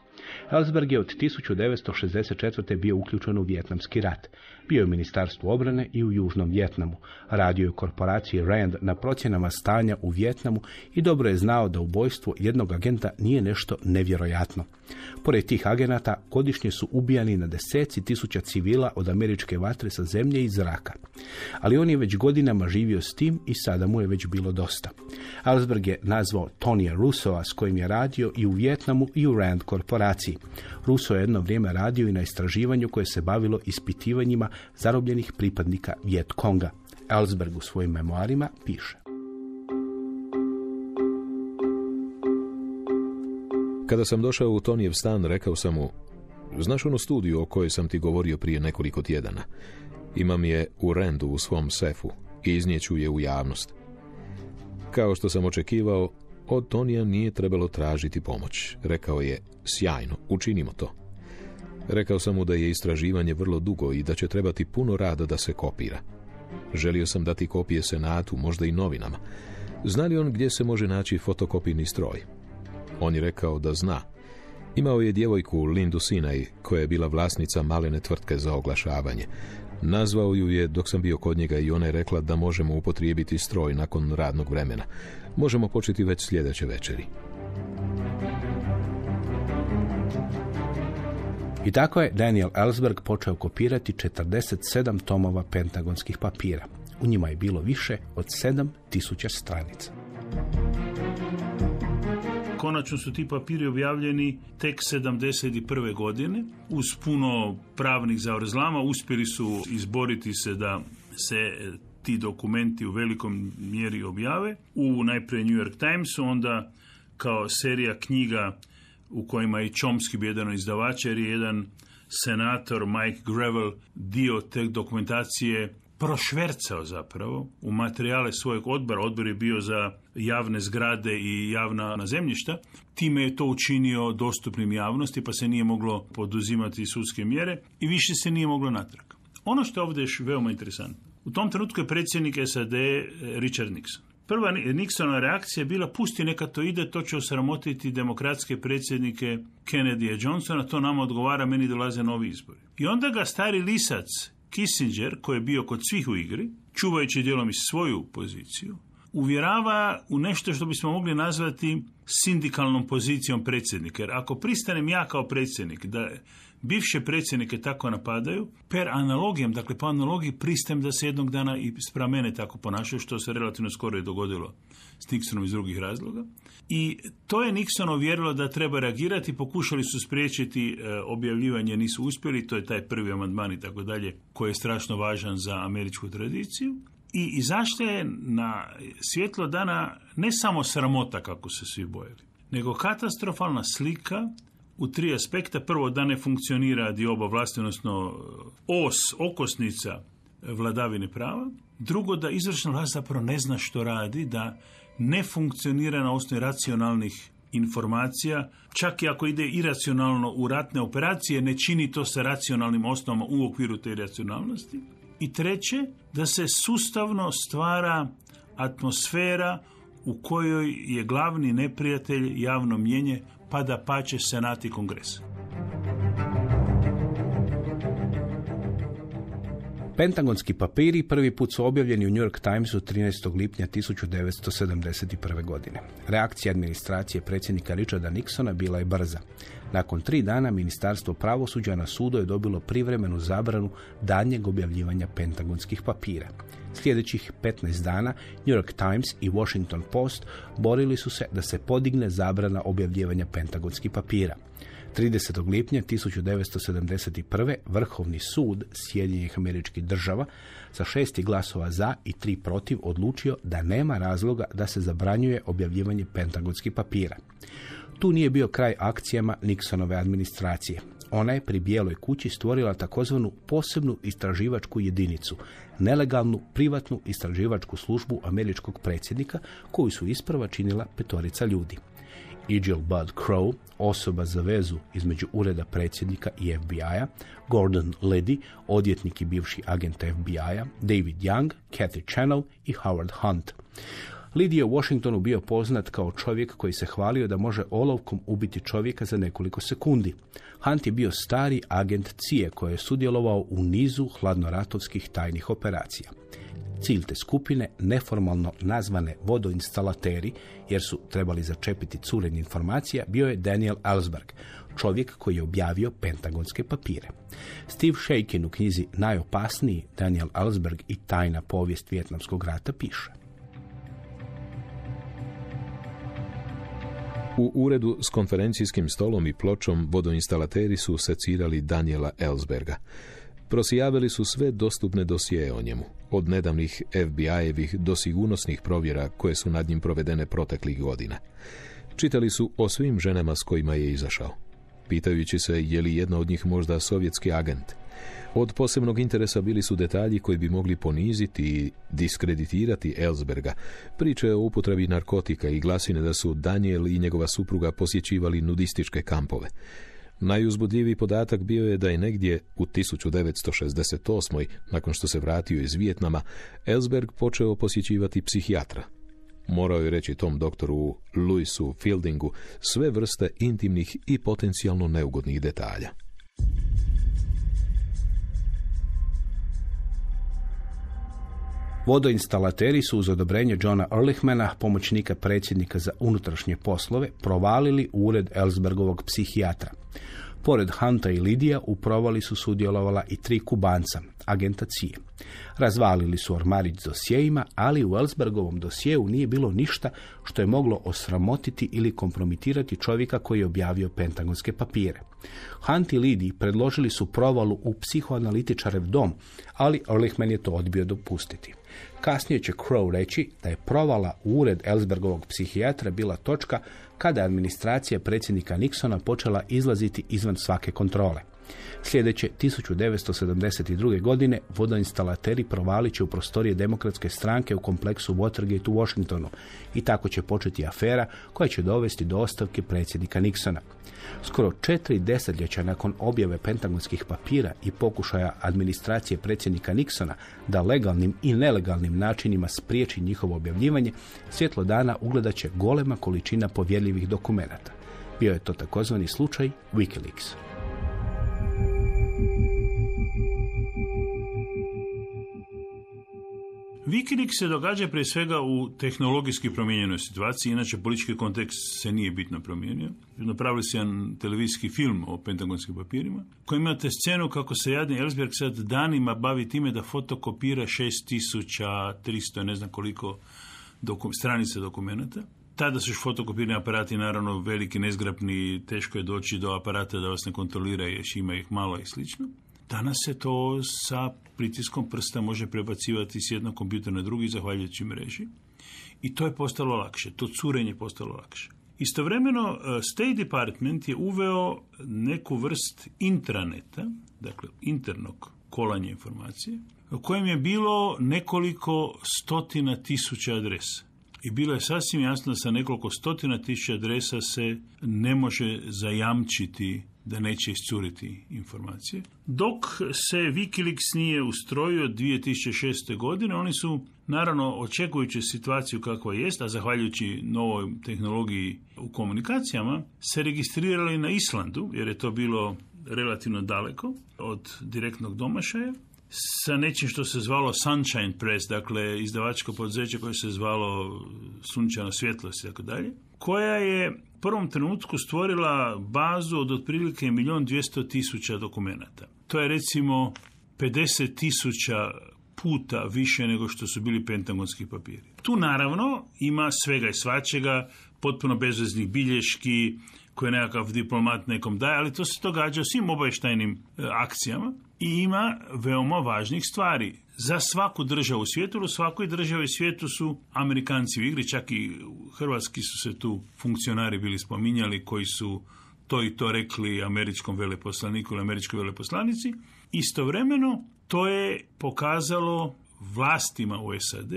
Ellsberg je od 1964. bio uključen u Vijetnamski rat. Bio je u Ministarstvu obrane i u Južnom Vijetnamu. Radio je u korporaciji Rand na procjenama stanja u Vijetnamu i dobro je znao da ubojstvo jednog agenta nije nešto nevjerojatno. Pored tih agenata godišnje su ubijani na deseci tisuća civila od američke vatre sa zemlje i zraka. Ali on je već godinama živio s tim i sada mu je već bilo dosta. Ellsberg je nazvao Tonija Russoa s kojim je radio i u Vijetnamu i u Rand korporaciji. Russo je jedno vrijeme radio i na istraživanju koje se bavilo ispitivanjima zarobljenih pripadnika Viet Konga. Ellsberg u svojim memoarima piše: Kada sam došao u Tonijev stan, rekao sam mu: znaš onu studiju o kojoj sam ti govorio prije nekoliko tjedana? Imam je u Randu u svom sefu i iznijeću je u javnost. Kao što sam očekivao, od Tonija nije trebalo tražiti pomoć. Rekao je: sjajno, učinimo to. Rekao sam mu da je istraživanje vrlo dugo i da će trebati puno rada da se kopira. Želio sam dati kopije Senatu, možda i novinama. Zna li on gdje se može naći fotokopijni stroj? On je rekao da zna. Imao je djevojku Lindu Sinaj, koja je bila vlasnica malene tvrtke za oglašavanje. Nazvao ju je dok sam bio kod njega i ona je rekla da možemo upotrijebiti stroj nakon radnog vremena. Možemo početi već sljedeće večeri. I tako je Daniel Ellsberg počeo kopirati 47 tomova pentagonskih papira. U njima je bilo više od 7000 stranica. Konačno su ti papiri objavljeni tek 71. godine. Uz puno pravnih zavrzlama uspjeli su izboriti se da se ti dokumenti u velikom mjeri objave. U najprije New York Timesu, onda kao serija knjiga u kojima je Chomsky bio jedan od izdavača, jer je jedan senator Mike Gravel dio te dokumentacije prošvercao zapravo u materijale svojeg odbora. Odbor je bio za javne zgrade i javna zemljišta. Time je to učinio dostupnim javnosti, pa se nije moglo poduzimati sudske mjere i više se nije moglo natrag. Ono što je ovdje još veoma interesantno. U tom trenutku je predsjednik SAD Richard Nixon. Prva Nixonova reakcija je bila: pusti, neka to ide, to će osramotiti demokratske predsjednike Kennedy i Johnsona, to nama odgovara, meni dolaze novi izbori. I onda ga stari lisac Kissinger, koji je bio kod svih u igri, čuvajući dijelom i svoju poziciju, uvjerava u nešto što bismo mogli nazvati sindikalnom pozicijom predsjednika. Jer ako pristanem ja kao predsjednik da bivše predsjednike tako napadaju, per analogijom, dakle po analogiji pristajem da se jednog dana i spram mene tako ponašaju, što se relativno skoro je dogodilo s Nixonom iz drugih razloga. I to je Nixon uvjerilo da treba reagirati, pokušali su spriječiti objavljivanje, nisu uspjeli, to je taj prvi amandman i tako dalje, koji je strašno važan za američku tradiciju. I izašla je na svjetlo dana ne samo sramota kako se svi bojali, nego katastrofalna slika u 3 aspekta. Prvo, da ne funkcionira dioba vlasti, odnosno okosnica vladavine prava. Drugo, da izvršna vlast zapravo ne zna što radi, da ne funkcionira na osnovi racionalnih informacija, čak i ako ide iracionalno u ratne operacije, ne čini to sa racionalnim osnovama u okviru te racionalnosti. I treće, da se sustavno stvara atmosfera u kojoj je glavni neprijatelj javno mnijenje, pa da pače senat i kongres. Pentagonski papiri prvi put su objavljeni u New York Timesu 13. lipnja 1971. godine. Reakcija administracije predsjednika Richarda Nixona bila je brza. Nakon 3 dana Ministarstvo pravosuđa na sudu je dobilo privremenu zabranu daljnjeg objavljivanja pentagonskih papira. Sljedećih 15 dana New York Times i Washington Post borili su se da se podigne zabrana objavljivanja pentagonskih papira. 30. lipnja 1971. Vrhovni sud Sjedinjenih Američkih Država sa 6 glasova za i 3 protiv odlučio da nema razloga da se zabranjuje objavljivanje pentagonskih papira. Tu nije bio kraj akcijama Nixonove administracije. Ona je pri Bijeloj kući stvorila takozvanu posebnu istraživačku jedinicu, nelegalnu privatnu istraživačku službu američkog predsjednika, koju su isprva činila 5 ljudi. Egil Bud Crow, osoba za vezu između ureda predsjednika i FBI-a, Gordon Liddy, odvjetnik i bivši agent FBI-a, David Young, Kathy Channel i Howard Hunt. Liddy je u Washingtonu bio poznat kao čovjek koji se hvalio da može olovkom ubiti čovjeka za nekoliko sekundi. Hunt je bio stari agent CIA koji je sudjelovao u nizu hladnoratovskih tajnih operacija. Cilj te skupine, neformalno nazvane vodoinstalateri, jer su trebali začepiti curenje informacija, bio je Daniel Ellsberg, čovjek koji je objavio pentagonske papire. Steve Shakin u knjizi Najopasniji Daniel Ellsberg i tajna povijest Vijetnamskog rata piše: U uredu s konferencijskim stolom i pločom vodoinstalateri su secirali Daniela Ellsberga. Prosijavili su sve dostupne dosije o njemu, od nedavnih FBI-evih do sigurnosnih provjera koje su nad njim provedene proteklih godina. Čitali su o svim ženama s kojima je izašao, pitajući se je li jedna od njih možda sovjetski agent. Od posebnog interesa bili su detalji koji bi mogli poniziti i diskreditirati Ellsberga, priče o upotrebi narkotika i glasine da su Daniel i njegova supruga posjećivali nudističke kampove. Najuzbudljiviji podatak bio je da je negdje u 1968. nakon što se vratio iz Vijetnama, Ellsberg počeo posjećivati psihijatra. Morao je reći tom doktoru Louisu Fieldingu sve vrste intimnih i potencijalno neugodnih detalja. Vodoinstalateri su uz odobrenje Johna Ehrlichmana, pomoćnika predsjednika za unutrašnje poslove, provalili u ured Ellsbergovog psihijatra. Pored Hunta i Lidija u provali su sudjelovala i 3 Kubanca, agenta CIA. Razvalili su ormarić s dosjejima, ali u Ellsbergovom dosjeu nije bilo ništa što je moglo osramotiti ili kompromitirati čovjeka koji je objavio pentagonske papire. Hunt i Lidij predložili su provalu u psihoanalitičarev dom, ali Ehrlichman je to odbio dopustiti. Kasnije će Crow reći da je provala u ured Ellsbergovog psihijatra bila točka kada je administracija predsjednika Nixona počela izlaziti izvan svake kontrole. Sljedeće 1972. godine vodoinstalateri provalit će u prostorije Demokratske stranke u kompleksu Watergate u Washingtonu i tako će početi afera koja će dovesti do ostavke predsjednika Nixona. Skoro 4 desetljeća nakon objave pentagonskih papira i pokušaja administracije predsjednika Nixona da legalnim i nelegalnim načinima spriječi njihovo objavljivanje, svjetlo dana ugledat će golema količina povjerljivih dokumenata. Bio je to takozvani slučaj WikiLeaks. WikiLeaks se događa prije svega u tehnologijski promijenjenoj situaciji, inače politički kontekst se nije bitno promijenio. Napravili se jedan televizijski film o pentagonskim papirima, koji imate scenu kako se jadni Ellsberg sad danima bavi time da fotokopira 6300, ne znam koliko stranica dokumenta. Tada su fotokopirni aparati naravno veliki, nezgrapni, teško je doći do aparata da vas ne kontrolira jer ima ih malo i slično. Danas se to sa pritiskom prsta može prebacivati s jednog kompjutera na drugi zahvaljujući mreži. I to je postalo lakše, to curenje je postalo lakše. Istovremeno, State Department je uveo neku vrst intraneta, dakle internog kolanja informacije, u kojem je bilo nekoliko stotina tisuća adresa. I bilo je sasvim jasno da sa nekoliko stotina tisuća adresa se ne može zajamčiti da neće iscuriti informacije. Dok se Wikileaks nije ustrojio 2006. godine, oni su, naravno, očekujući situaciju kakva jest, a zahvaljujući novoj tehnologiji u komunikacijama, se registrirali na Islandu, jer je to bilo relativno daleko od direktnog domašaja, sa nečim što se zvalo Sunshine Press, dakle izdavačko poduzeće koje se zvalo Sunčana svjetlost i tako dalje, koja je u prvom trenutku stvorila bazu od otprilike 1.200.000 dokumenata. To je recimo 50.000 puta više nego što su bili pentagonski papiri. Tu naravno ima svega i svačega, potpuno bezveznih bilješki koje nekakav diplomat nekom daje, ali to se događa u svim obavještajnim akcijama i ima veoma važnih stvari. Za svaku državu u svijetu, u svakoj državi u svijetu su Amerikanci u igri, čak i hrvatski su se tu funkcionari bili spominjali koji su to i to rekli američkom veleposlaniku ili američkoj veleposlanici. Istovremeno to je pokazalo vlastima u SAD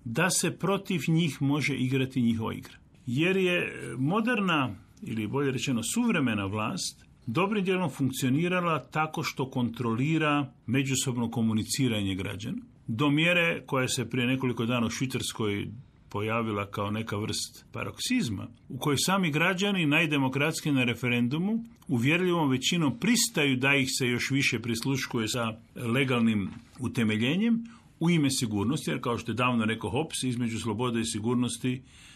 da se protiv njih može igrati njihova igra. Jer je moderna, ili bolje rečeno suvremena vlast, dobrim dijelom funkcionirala tako što kontrolira međusobno komuniciranje građana, do mjere koja se prije nekoliko dana u Švicarskoj pojavila kao neka vrst paroksizma, u kojoj sami građani najdemokratski na referendumu uvjerljivom većinom pristaju da ih se još više prisluškuje sa legalnim utemeljenjem u ime sigurnosti, jer kao što je davno rekao Hobbes, između slobode i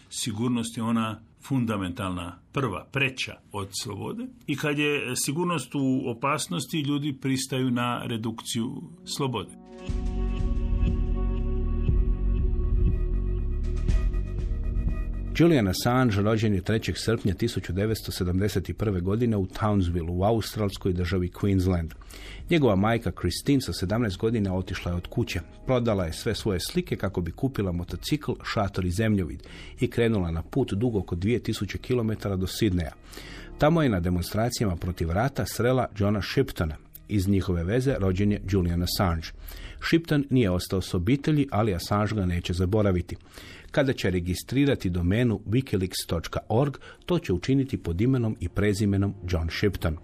sigurnost je ona fundamentalna, prva, preča od slobode. I kad je sigurnost u opasnosti, ljudi pristaju na redukciju slobode. Julian Assange rođen je 3. srpnja 1971. godine u Townsville, u australskoj državi Queensland. Njegova majka Christine sa 17 godina otišla je od kuće. Prodala je sve svoje slike kako bi kupila motocikl, šator i zemljovid i krenula na put dug oko 2000 km do Sidneja. Tamo je na demonstracijama protiv rata srela Johna Shiptona. Iz njihove veze rođen je Julian Assange. Shipton nije ostao s obitelji, ali Assange ga neće zaboraviti. Kada će registrirati domenu wikileaks.org, to će učiniti pod imenom i prezimenom John Shipton.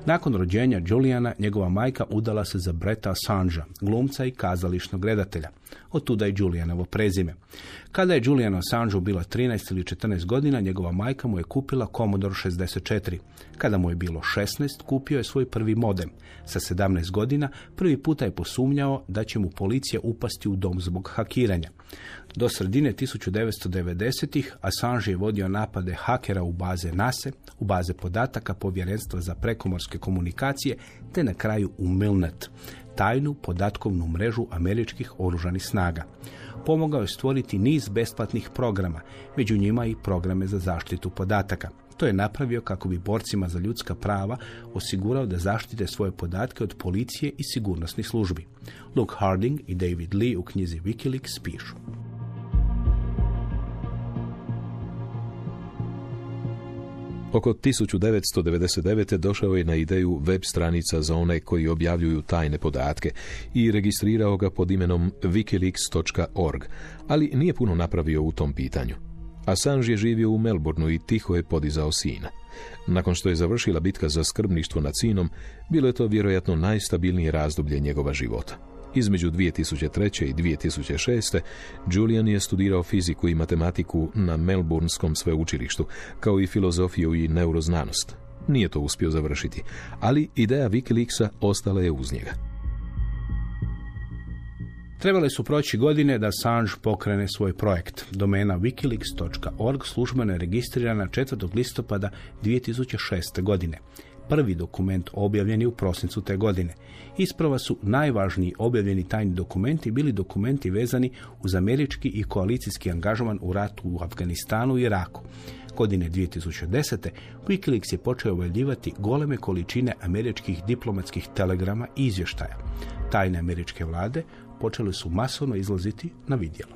Nakon rođenja Juliana, njegova majka udala se za Bretta Assangea, glumca i kazališnog redatelja. Otuda je Julianovo prezime. Kada je Julianu Assangeu bila 13 ili 14 godina, njegova majka mu je kupila Commodore 64. Kada mu je bilo 16, kupio je svoj prvi modem. Sa 17 godina prvi puta je posumnjao da će mu policija upasti u dom zbog hakiranja. Do sredine 1990-ih Assange je vodio napade hakera u baze NASA, u baze podataka Povjerenstva za prekomorske komunikacije, te na kraju u Milnet, tajnu podatkovnu mrežu američkih oružanih snaga. Pomogao je stvoriti niz besplatnih programa, među njima i programe za zaštitu podataka. To je napravio kako bi borcima za ljudska prava osigurao da zaštite svoje podatke od policije i sigurnosnih službi. Luke Harding i David Lee u knjizi Wikileaks pišu. Oko 1999. došao je na ideju web stranica za one koji objavljuju tajne podatke i registrirao ga pod imenom wikileaks.org, ali nije puno napravio u tom pitanju. Assange je živio u Melbourneu i tiho je podizao sina. Nakon što je završila bitka za skrbništvo nad sinom, bilo je to vjerojatno najstabilnije razdoblje njegova života. Između 2003. i 2006. Julian je studirao fiziku i matematiku na Melbourneskom sveučilištu, kao i filozofiju i neuroznanost. Nije to uspio završiti, ali ideja Wikileaksa ostala je uz njega. Trebale su proći godine da Assange pokrene svoj projekt. Domena wikileaks.org službeno je registrirana 4. listopada 2006. godine. Prvi dokument objavljen je u prosincu te godine. Isprva su najvažniji objavljeni tajni dokumenti bili dokumenti vezani uz američki i koalicijski angažman u ratu u Afganistanu i Iraku. Godine 2010. Wikileaks je počeo objavljivati goleme količine američkih diplomatskih telegrama i izvještaja. Tajne američke vlade počele su masovno izlaziti na vidjelo.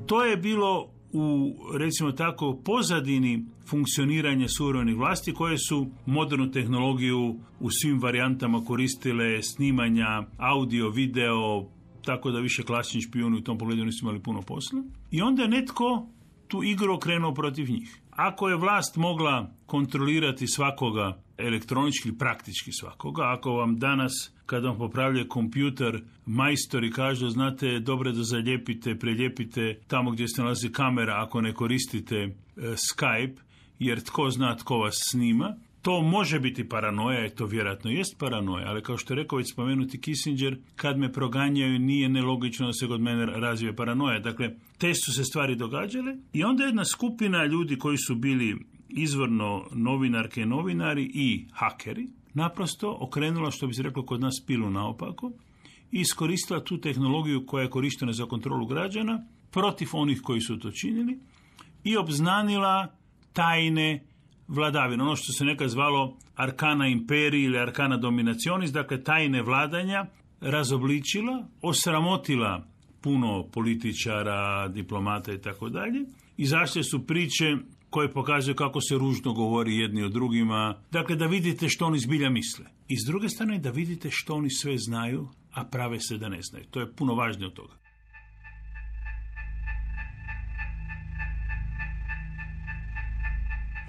To je bilo u, recimo tako, pozadini funkcioniranja suvremenih vlasti koje su modernu tehnologiju u svim varijantama koristile, snimanja, audio, video, tako da više klasični špijuni u tom pogledu nisu imali puno posla. I onda je netko tu igru okrenuo protiv njih. Ako je vlast mogla kontrolirati svakoga elektronički, praktički svakoga, ako vam danas kada vam popravlja kompjuter majstori kažu, znate, dobro da zalijepite, preljepite tamo gdje se nalazi kamera ako ne koristite Skype, jer tko zna tko vas snima. To može biti paranoja i to vjerojatno jest paranoja, ali kao što je rekao već spomenuti Kissinger, kad me proganjaju nije nelogično da se kod mene razvije paranoja. Dakle, te su se stvari događale i onda jedna skupina ljudi koji su bili izvorno novinarke i novinari i hakeri, naprosto okrenula, što bi se reklo kod nas, pilu naopako i iskoristila tu tehnologiju koja je korištena za kontrolu građana protiv onih koji su to činili i obznanila tajne vladavine, ono što se nekad zvalo arkana imperiji ili arkana dominacionis, dakle tajne vladanja, razobličila, osramotila puno političara, diplomata i tako dalje. Izašle su priče koje pokazuju kako se ružno govori jedni o drugima, dakle da vidite što oni zbilja misle. I s druge strane da vidite što oni sve znaju, a prave se da ne znaju. To je puno važnije od toga.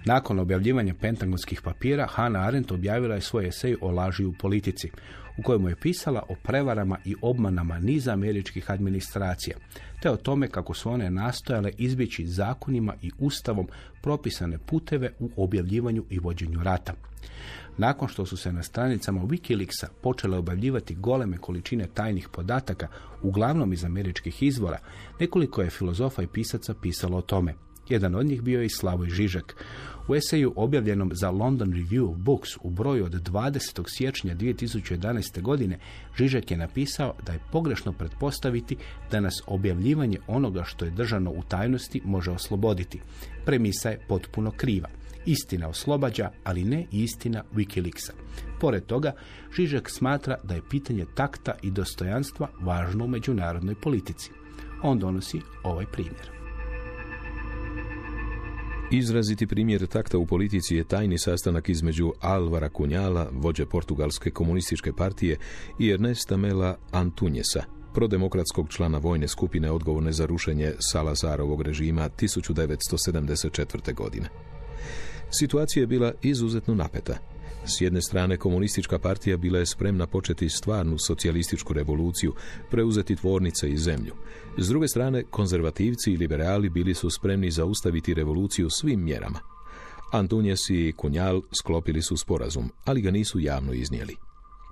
Nakon objavljivanja pentagonskih papira, Hannah Arendt objavila je svoj esej o laži u politici, u kojemu je pisala o prevarama i obmanama niza američkih administracija, te o tome kako su one nastojale izbjeći zakonima i ustavom propisane puteve u objavljivanju i vođenju rata. Nakon što su se na stranicama Wikileaksa počele objavljivati goleme količine tajnih podataka, uglavnom iz američkih izvora, nekoliko je filozofa i pisaca pisalo o tome. Jedan od njih bio je i Slavoj Žižek. U eseju objavljenom za London Review of Books u broju od 20. siječnja 2011. godine Žižek je napisao da je pogrešno pretpostaviti da nas objavljivanje onoga što je držano u tajnosti može osloboditi. Premisa je potpuno kriva. Istina oslobađa, ali ne i istina Wikileaksa. Pored toga, Žižek smatra da je pitanje takta i dostojanstva važno u međunarodnoj politici. On donosi ovaj primjer. Izraziti primjer takta u politici je tajni sastanak između Álvara Cunhala, vođe portugalske komunističke partije, i Ernesta Mela Antunjesa, prodemokratskog člana vojne skupine odgovorne za rušenje Salazarovog režima 1974. godine. Situacija je bila izuzetno napeta. S jedne strane, komunistička partija bila je spremna početi stvarnu socijalističku revoluciju, preuzeti tvornice i zemlju. S druge strane, konzervativci i liberali bili su spremni zaustaviti revoluciju svim mjerama. Antunjes i Cunhal sklopili su sporazum, ali ga nisu javno iznijeli.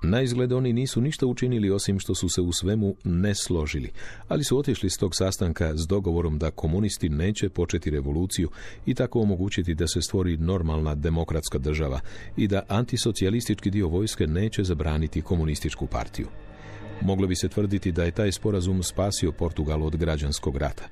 Naizgled oni nisu ništa učinili osim što su se u svemu ne složili, ali su otišli s tog sastanka s dogovorom da komunisti neće početi revoluciju i tako omogućiti da se stvori normalna demokratska država i da antisocijalistički dio vojske neće zabraniti komunističku partiju. Moglo bi se tvrditi da je taj sporazum spasio Portugal od građanskog rata,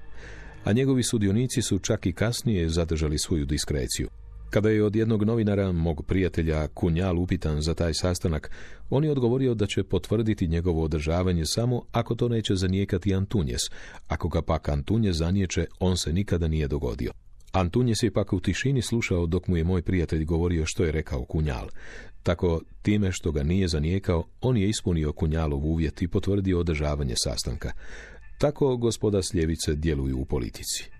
a njegovi sudionici su čak i kasnije zadržali svoju diskreciju. Kada je od jednog novinara, mog prijatelja Cunhal, upitan za taj sastanak, on je odgovorio da će potvrditi njegovo održavanje samo ako to neće zanijekati Antunjes. Ako ga pak Antunjes zaniječe, on se nikada nije dogodio. Antunjes je pak u tišini slušao dok mu je moj prijatelj govorio što je rekao Cunhal. Tako, time što ga nije zanijekao, on je ispunio Cunhalov uvjet i potvrdio održavanje sastanka. Tako gospoda s ljevice djeluju u politici.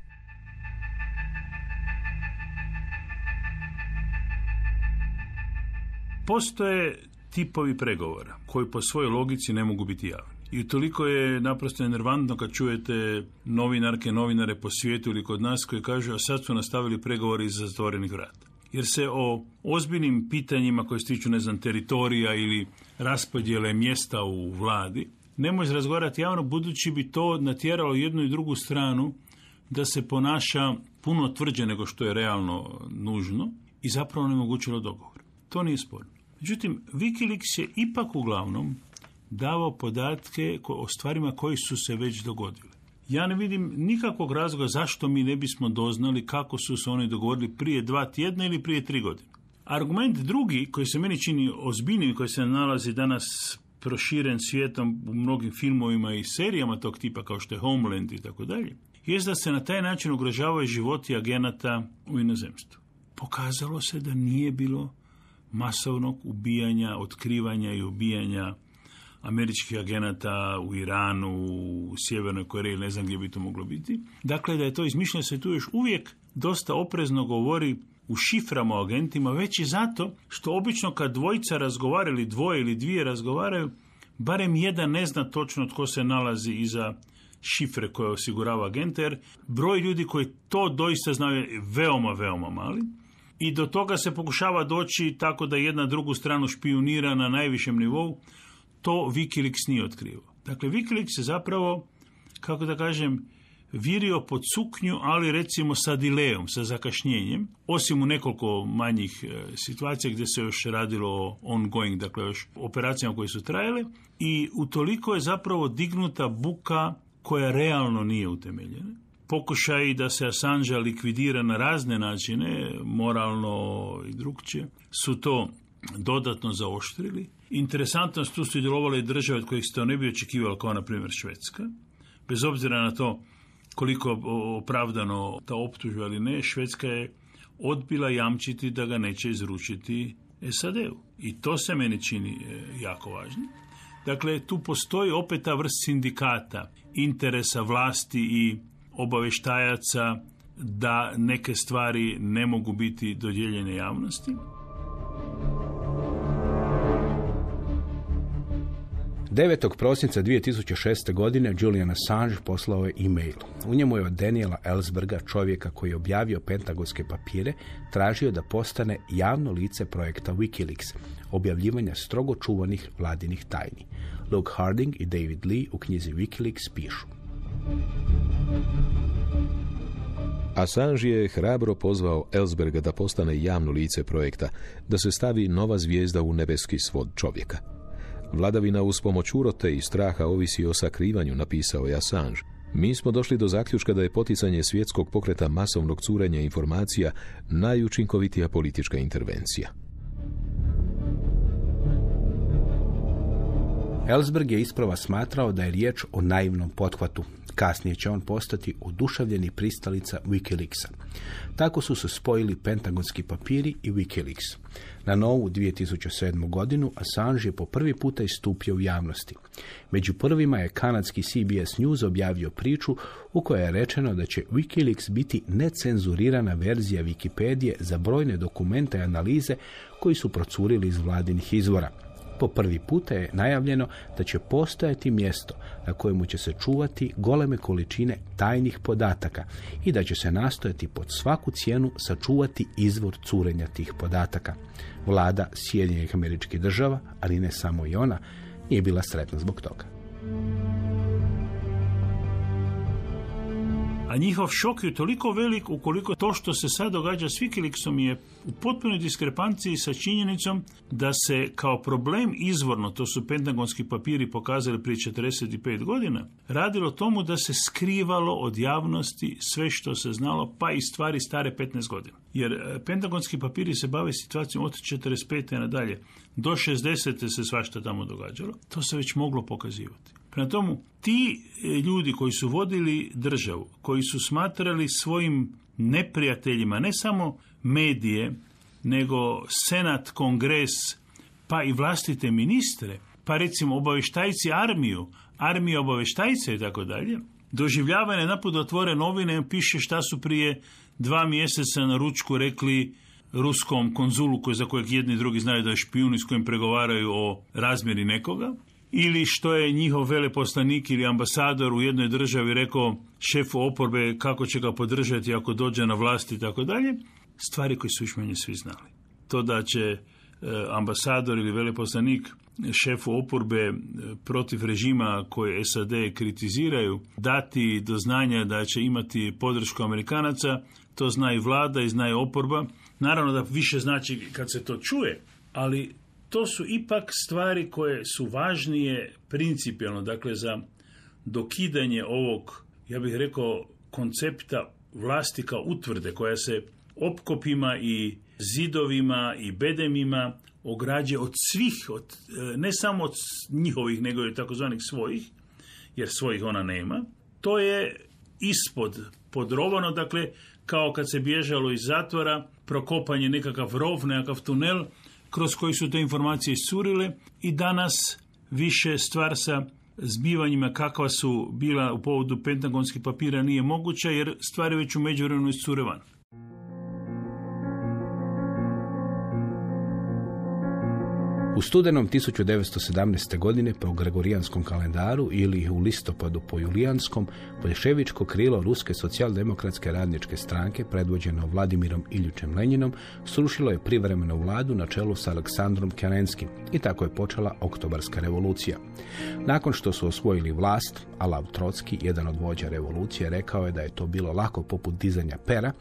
Postoje tipovi pregovora koji po svojoj logici ne mogu biti javni. I toliko je naprosto enervantno kad čujete novinarke, novinare po svijetu ili kod nas koji kažu a sad su nastavili pregovori iza zatvorenih vrata. Jer se o ozbiljnim pitanjima koje se tiču, teritorija ili raspodjele mjesta u vladi ne može razgovarati javno, budući bi to natjeralo jednu i drugu stranu da se ponaša puno tvrđe nego što je realno nužno i zapravo onemogućilo dogovor. To nije sporno. Međutim, Wikileaks je ipak uglavnom davao podatke o stvarima koji su se već dogodile. Ja ne vidim nikakvog razloga zašto mi ne bismo doznali kako su se oni dogovorili prije 2 tjedna ili prije 3 godine. Argument drugi, koji se meni čini ozbiljnim, koji se nalazi danas proširen svijetom u mnogim filmovima i serijama tog tipa kao što je Homeland i tako dalje, je da se na taj način ugrožavaju životi agenata u inozemstvu. Pokazalo se da nije bilo masovnog ubijanja, otkrivanja i ubijanja američkih agenata u Iranu, u Sjevernoj Koreji, ne znam gdje bi to moglo biti. Dakle, da je to izmišljeno, se tu još uvijek dosta oprezno govori u šiframa o agentima, već i zato što obično kad dvojica razgovara ili dvoje ili dvije razgovaraju, barem jedan ne zna točno tko se nalazi iza šifre koje osigurava agenta, jer broj ljudi koji to doista znaju je veoma, veoma mali. I do toga se pokušava doći tako da jedna drugu stranu špijunira na najvišem nivou. To Wikileaks nije otkrivao. Dakle, Wikileaks je zapravo, kako da kažem, virio pod suknju, ali recimo sa dilejom, sa zakašnjenjem, osim u nekoliko manjih situacija gdje se još radilo o ongoing, dakle još operacijama koje su trajale, i utoliko je zapravo dignuta buka koja realno nije utemeljena. Pokušaj da se Assange likvidira na razne načine, moralno i drugčije, su to dodatno zaoštrili. Interesantno, tu su djelovale i države od kojih se to ne bi očekivalo, kao na primjer Švedska. Bez obzira na to koliko opravdano ta optužba ili ne, Švedska je odbila jamčiti da ga neće izručiti SAD-u. I to se meni čini jako važno. Dakle, tu postoji opet ta vrst sindikata, interesa vlasti i obavještajaca da neke stvari ne mogu biti dodijeljene javnosti. Prosinca 2006. godine Julian Assange poslao je e-mail. U njemu je od Daniela Ellsberga, čovjeka koji je objavio pentagonske papire, tražio da postane javno lice projekta Wikileaks, objavljivanja strogo čuvanih vladinih tajni. Luke Harding i David Lee u knjizi Wikileaks pišu: Assange je hrabro pozvao Ellsberga da postane javno lice projekta, da se stavi nova zvijezda u nebeski svod čovjeka. Vladavina uz pomoć urote i straha ovisi o sakrivanju, napisao je Assange. Mi smo došli do zaključka da je poticanje svjetskog pokreta masovnog curenja informacija najučinkovitija politička intervencija. Ellsberg je isprva smatrao da je riječ o naivnom pothvatu. Kasnije će on postati oduševljeni pristalica Wikileaksa. Tako su se spojili pentagonski papiri i Wikileaks. Na novu 2007. godinu Assange je po prvi puta istupio u javnosti. Među prvima je kanadski CBS News objavio priču u kojoj je rečeno da će Wikileaks biti necenzurirana verzija Wikipedije za brojne dokumente i analize koji su procurili iz vladinih izvora. Po prvi puta je najavljeno da će postojati mjesto na kojemu će se čuvati goleme količine tajnih podataka i da će se nastojati pod svaku cijenu sačuvati izvor curenja tih podataka. Vlada Sjedinjenih Američkih Država, ali ne samo i ona, nije bila sretna zbog toga. A njihov šok je toliko velik ukoliko to što se sad događa s Wikileaksom je u potpunoj diskrepanciji sa činjenicom da se kao problem izvorno, to su pentagonski papiri pokazali prije 45 godina, radilo tomu da se skrivalo od javnosti sve što se znalo, pa i stvari stare 15 godina. Jer pentagonski papiri se bave situacijom od 45. nadalje. Do 60. se svašta tamo događalo. To se već moglo pokazivati. Prema tomu, ti ljudi koji su vodili državu, koji su smatrali svojim neprijateljima ne samo medije, nego senat, kongres, pa i vlastite ministre, pa recimo obavještajci armija obavještajce i tako dalje, doživljavane naput da otvore novine i piše šta su prije 2 mjeseca na ručku rekli ruskom konzulu za kojeg jedni i drugi znaju da je špijun i s kojim pregovaraju o razmjeri nekoga, ili što je njihov veleposlanik ili ambasador u jednoj državi rekao šefu oporbe kako će ga podržati ako dođe na vlast i tako dalje, stvari koje su još manje svi znali. To da će ambasador ili veleposlanik šefu oporbe protiv režima koje SAD kritiziraju dati do znanja da će imati podršku Amerikanaca, to zna i vlada i zna i oporba. Naravno da više znači kad se to čuje, ali to su ipak stvari koje su važnije principijalno, dakle za dokidanje ovog, ja bih rekao, koncepta vlasti kao utvrde koja se opkopima i zidovima i bedemima ograđuje od svih, ne samo od njihovih, nego i takozvanih svojih, jer svojih ona nema. To je ispod podrovano, dakle, kao kad se bježalo iz zatvora, prokopanje nekakav rov, nekakav tunel, kroz koji su te informacije iscurile i danas više stvar sa zbivanjima kakva su bila u povodu pentagonskih papira nije moguća, jer stvari već u međuvremenu iscure van. U studenom 1917. godine po gregorijanskom kalendaru ili u listopadu po julijanskom, boljševičko krilo Ruske socijaldemokratske radničke stranke, predvođeno Vladimirom Iljičem Lenjinom, srušilo je privremenu vladu na čelu s Aleksandrom Kerenskim i tako je počela Oktobarska revolucija. Nakon što su osvojili vlast, a Lav Trotski, jedan od vođa revolucije, rekao je da je to bilo lako poput dizanja pera,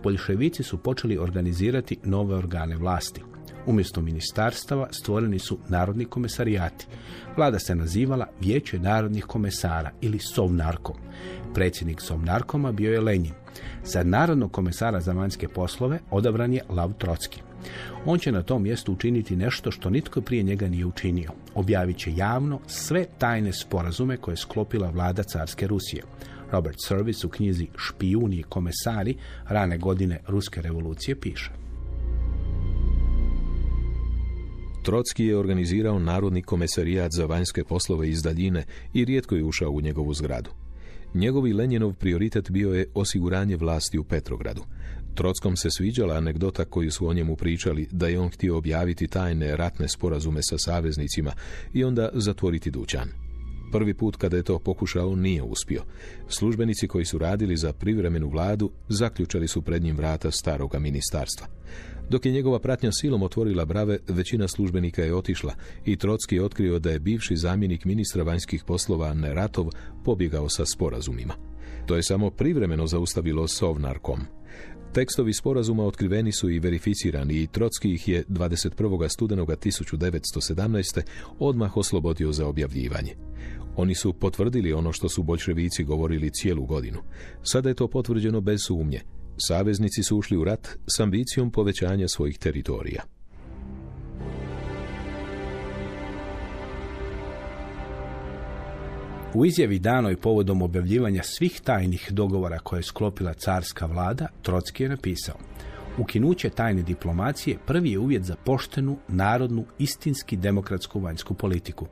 boljševici su počeli organizirati nove organe vlasti. Umjesto ministarstava stvoreni su narodni komesarijati. Vlada se nazivala Vijeće narodnih komesara ili Sovnarkom. Predsjednik Sovnarkoma bio je Lenjin. Za narodnog komesara za vanjske poslove odabran je Lav Trotski. On će na tom mjestu učiniti nešto što nitko prije njega nije učinio. Objavit će javno sve tajne sporazume koje je sklopila vlada carske Rusije. Robert Service u knjizi Špijuni i komesari rane godine Ruske revolucije piše: Trotski je organizirao Narodni komesarijat za vanjske poslove iz daljine i rijetko je ušao u njegovu zgradu. Njegov i Lenjinov prioritet bio je osiguranje vlasti u Petrogradu. Trotskom se sviđala anegdota koju su o njemu pričali, da je on htio objaviti tajne ratne sporazume sa saveznicima i onda zatvoriti dućan. Prvi put kada je to pokušao nije uspio. Službenici koji su radili za privremenu vladu zaključali su pred njim vrata staroga ministarstva. Dok je njegova pratnja silom otvorila brave, većina službenika je otišla i Trotski je otkrio da je bivši zamjenik ministra vanjskih poslova Neratov pobjegao sa sporazumima. To je samo privremeno zaustavilo Sovnarkom. Tekstovi sporazuma otkriveni su i verificirani i Trotski ih je 21. studenoga 1917. odmah oslobodio za objavljivanje. Oni su potvrdili ono što su boljševici govorili cijelu godinu. Sada je to potvrđeno bez sumnje. Saveznici su ušli u rat s ambicijom povećanja svojih teritorija. U izjavi danoj povodom objavljivanja svih tajnih dogovora koje je sklopila carska vlada, Trotski je napisao: ukinuće tajne diplomacije prvi je uvjet za poštenu, narodnu, istinski demokratsku vanjsku politiku.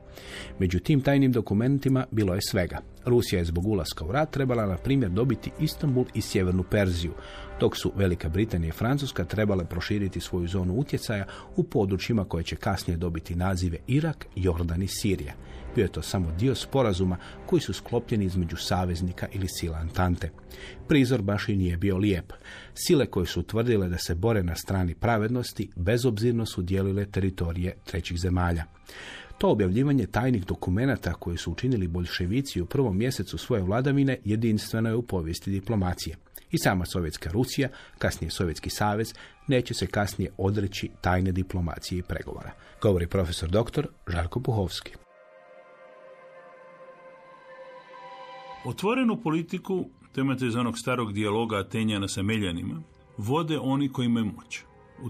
Među tim tajnim dokumentima bilo je svega. Rusija je zbog ulaska u rat trebala, na primjer, dobiti Istanbul i Sjevernu Perziju, dok su Velika Britanija i Francuska trebale proširiti svoju zonu utjecaja u područjima koje će kasnije dobiti nazive Irak, Jordan i Sirija. Bio je to samo dio sporazuma koji su sklopljeni između saveznika ili sila Antante. Prizor baš i nije bio lijep. Sile koje su tvrdile da se bore na strani pravednosti bezobzirno su dijelile teritorije trećih zemalja. To objavljivanje tajnih dokumenata koje su učinili boljševici u prvom mjesecu svoje vladavine jedinstveno je u povijesti diplomacije. I sama Sovjetska Rusija, kasnije Sovjetski savez, neće se kasnije odreći tajne diplomacije i pregovora. Govori profesor dr. Žarko Puhovski. Otvorenu politiku, to imate iz onog starog dijaloga Atenjana sa Meljanima, vode oni koji imaju moć. U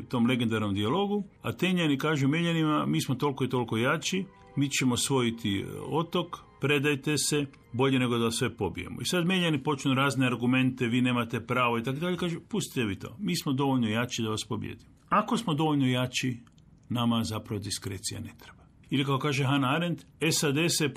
tom legendarnom dijalogu Atenjani kažu Meljanima: mi smo toliko i toliko jači, mi ćemo osvojiti otok, predajte se, bolje nego da sve pobijemo. I sad Meljani počnu razne argumente, vi nemate pravo i tako dalje, kažu: pustite vi to, mi smo dovoljno jači da vas pobijedimo. Ako smo dovoljno jači, nama zapravo diskrecija ne treba. Ili kao kaže Hannah Arendt, SAD se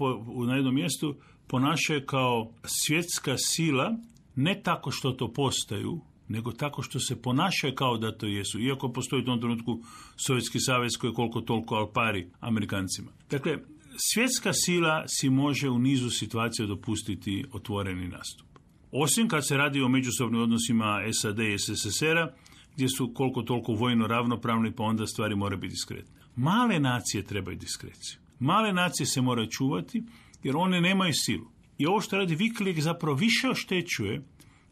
na jednom mjestu ponašaju kao svjetska sila, ne tako što to postaju, nego tako što se ponašaju kao da to jesu, iako postoji u tom trenutku Sovjetski savez koji je koliko toliko al pari Amerikancima. Dakle, svjetska sila si može u nizu situacija dopustiti otvoreni nastup. Osim kad se radi o međusobnim odnosima SAD i SSSR-a, gdje su koliko toliko vojno ravnopravni, pa onda stvari moraju biti diskretne. Male nacije trebaju diskreciju. Male nacije se moraju čuvati, jer one nemaju silu. I ovo što radi Wikileaks zapravo više oštećuje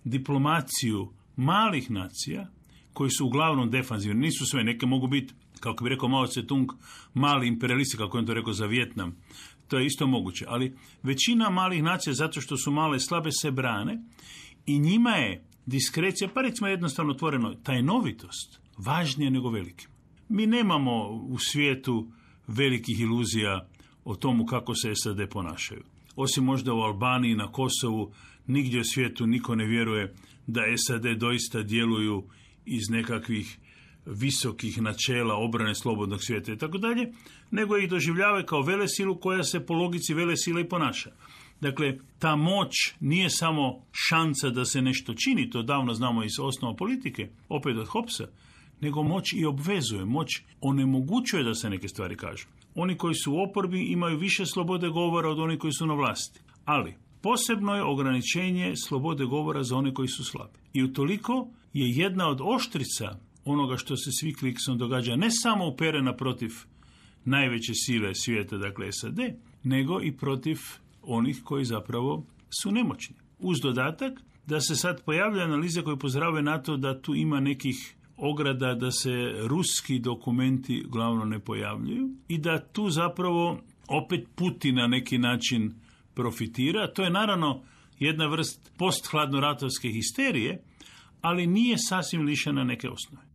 diplomaciju malih nacija, koji su uglavnom defanzivni. Nisu sve, neke mogu biti, kako bi rekao Mao Tse-tung, mali imperialisti, kako je on to rekao za Vijetnam. To je isto moguće. Ali većina malih nacija, zato što su male i slabe, se brane i njima je diskrecija, pa recimo jednostavno otvoreno, tajnovitost važnija nego veliki. Mi nemamo u svijetu velikih iluzija o tomu kako se SAD ponašaju. Osim možda u Albaniji, na Kosovu, nigdje u svijetu niko ne vjeruje da SAD doista djeluju iz nekakvih visokih načela obrane slobodnog svijeta i tako dalje, nego ih doživljavaju kao velesilu koja se po logici velesile i ponaša. Dakle, ta moć nije samo šansa da se nešto čini, to davno znamo iz osnova politike, opet od Hobbesa, nego moć i obvezuje, moć onemogućuje da se neke stvari kažu. Oni koji su u oporbi imaju više slobode govora od onih koji su na vlasti. Ali, posebno je ograničenje slobode govora za one koji su slabi. I utoliko je jedna od oštrica onoga što se s Wikileaksom događa ne samo uperena protiv najveće sile svijeta, dakle SAD, nego i protiv onih koji zapravo su nemoćni. Uz dodatak da se sad pojavlja analize koje upozoravaju na to da tu ima nekih ograda da se ruski dokumenti glavno ne pojavljuju i da tu zapravo opet Putin na neki način profitira. To je naravno jedna vrst posthladnoratovske histerije, ali nije sasvim lišena neke osnove.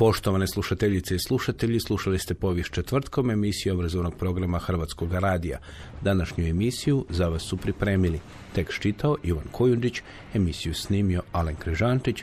Poštovane slušateljice i slušatelji, slušali ste Povijest četvrtkom, emisiju obrazovnog programa Hrvatskog radija. Današnju emisiju za vas su pripremili tekst čitao Ivan Kojundić, emisiju snimio Alen Križančić,